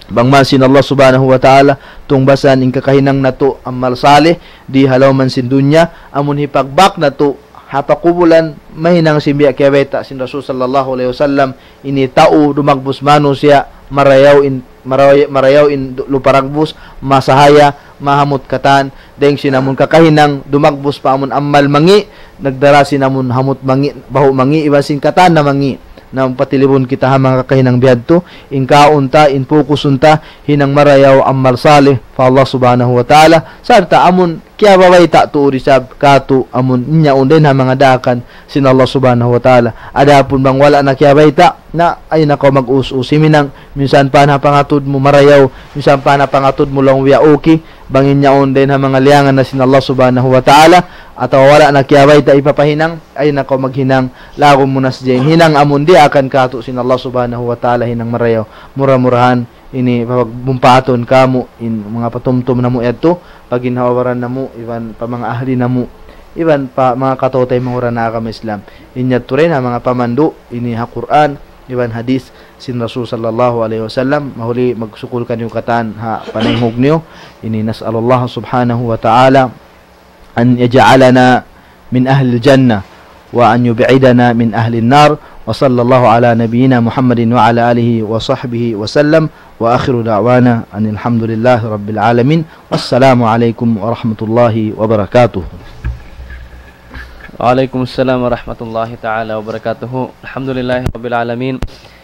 bang man sin Allah Subhanahu wa Ta'ala tungbasan in kakahinang natu' amal salih di ha lawm sin dunya, amun hipagbak natu' ha pakubulan, mahinang sin biya' kiyabayta' sin Rasul sallallahu alayhi wasallam, ini tau dumagbus manusiya', marayaw in, marayaw, marayaw in du-, lupa dagbus, masahaya, mahamut katan, dayng sin amun kakahinang dumagbus pa amun amal mangi', nagdara sin amun hamut mangi', bahu' mangi', iban sin katan na mangi'. Na patilibun kita ha manga kakahinang bihadtu, in kaun ta, in fokusun ta, hinang marayaw amal salih pa Allah Subhanahu wa Ta'ala, sarta' amun kiyabayta' tuud isab katu' amun in yaun dayn ha manga daakan sin Allah Subhanahu wa Ta'ala. Adapun bang wala' na kiyabayta', na ayaw na kaw mag-us-us himinang, minsan pa na pangatud mu marayaw, minsan pa na pangatud mu laung biya' okay, bang in yaun dayn ha manga liyangan na sin Allah Subhanahu wa Ta'ala, atawa wala' na kiyabayta' hipapahinang, ayaw na kaw maghinang, laggu' mu na sadja in hinang amun diyaakan katu' sin Allah Subhanahu wa Ta'ala hinang marayaw. Mura-murahan, ini pagbumpaatun kamu, in manga patumtum namu' yadtu, pa ginhawa-baran namu', iban pa manga ahli namu', iban pa manga kataw-taymanghuran ha agama Islam. In yadtu dayn ha manga pamandu', ini ha Qur'an, iban hadith sin Rasul sallallahu alayhi wasallam, mahuli magsukul kaniyu katan ha panayhug niyu, ini نسأل الله سبحانه وتعالى أن يجعلنا من أهل الجنة. وأن يبعدنا من أهل النار. وصلى الله على نبينا محمد وعلى آله وصحبه وسلم. وآخر دعوانا أن الحمد لله رب العالمين. والسلام عليكم ورحمة الله وبركاته. Waalaikumsalam warahmatullahi ta'ala wabarakatuh. Alhamdulillahi rabbil alamin.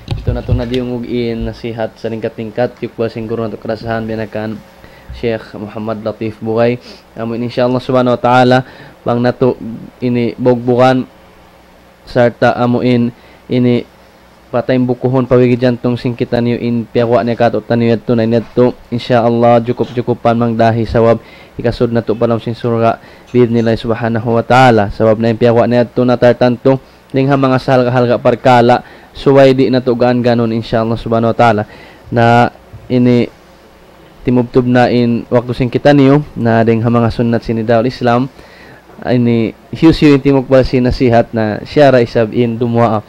Itu na, itu na diyungug in nasihat salingkat-lingkat, yukbal sin guru natu' kalasahan biya' na kan Sheikh Muhammad Latif Bugay. Amu in insha Allah subhanahu wa ta'ala, bang natu' ini bugbugan sarta' amu in ini pataymbukuhun, pawigijantung sin kitaniyu in piyaguwa' niya kātu'niyu yadtu na in yadtu. Insha Allah, jukup-jukupan mangdahi sabab hikasud natu' pa lawm sin surga' bi'idhnillah subhanahu wa ta'ala. Sabab na in piyaguwa' niya yadtu na tartantu dayn ha manga sahalga'-halga' parkala', subay di' natu' gaan-gaanun insha Allah subhanahu wa ta'ala. Na ini timubtub na in waktu sin kitaniyu, na dayn ha manga sunnat sin Nidaul Islam, ini hisiyu-siyu in timukbal sin nasihat na siya ra isab in dumuwaa.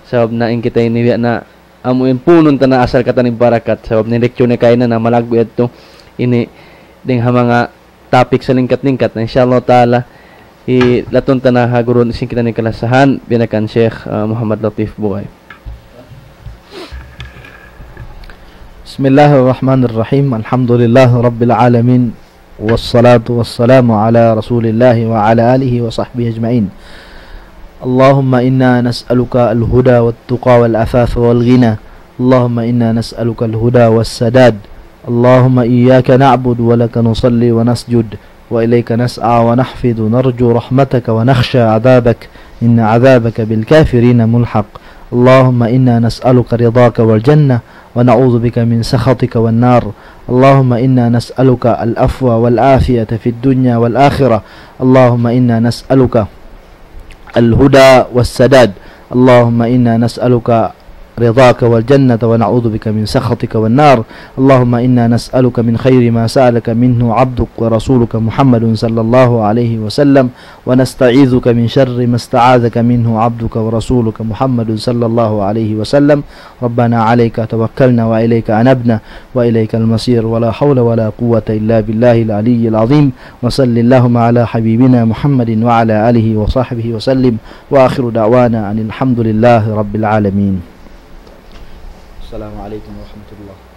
Sabab na in kita ini biya' na amu in punun ta na asal katan in barakat. Sabab na in lecture niya kaina na malaggu' yadtu ini dayn ha manga topic salingkat-lingkat. Na insha Allah ta'ala, hilatun ta na ha guru sin kitaniyu kalasahan, biya' na kan Sheikh, ah, Muhammad Latif Bugay. بسم الله الرحمن الرحيم. الحمد لله رب العالمين. والصلاة والسلام على رسول الله وعلى آله وصحبه أجمعين. اللهم إنا نسألك الهدى والتقى والعفاف والغنى. اللهم إنا نسألك الهدى والسداد. اللهم إياك نعبد ولك نصلي ونسجد وإليك نسعى ونحفد، نرجو رحمتك ونخشى عذابك، إن عذابك بالكافرين ملحق. اللهم إنا نسألك رضاك والجنة ونعوذ بك من سخطك والنار. اللهم إنا نسألك العفو والعافية في الدنيا والآخرة. اللهم إنا نسألك الهدى والسداد. اللهم إنا نسألك رضاك والجنة ونعوذ بك من سخطك والنار. اللهم إنا نسألك من خير ما سألك منه عبدك ورسولك محمد صلى الله عليه وسلم، ونستعيذك من شر ما استعاذك منه عبدك ورسولك محمد صلى الله عليه وسلم. ربنا عليك توكلنا وإليك أنبنا وإليك المصير، ولا حول ولا قوة إلا بالله العلي العظيم. وصل اللهم على حبيبنا محمد وعلى آله وصحبه وسلم، وآخر دعوانا أن الحمد لله رب العالمين. السلام عليكم ورحمة الله.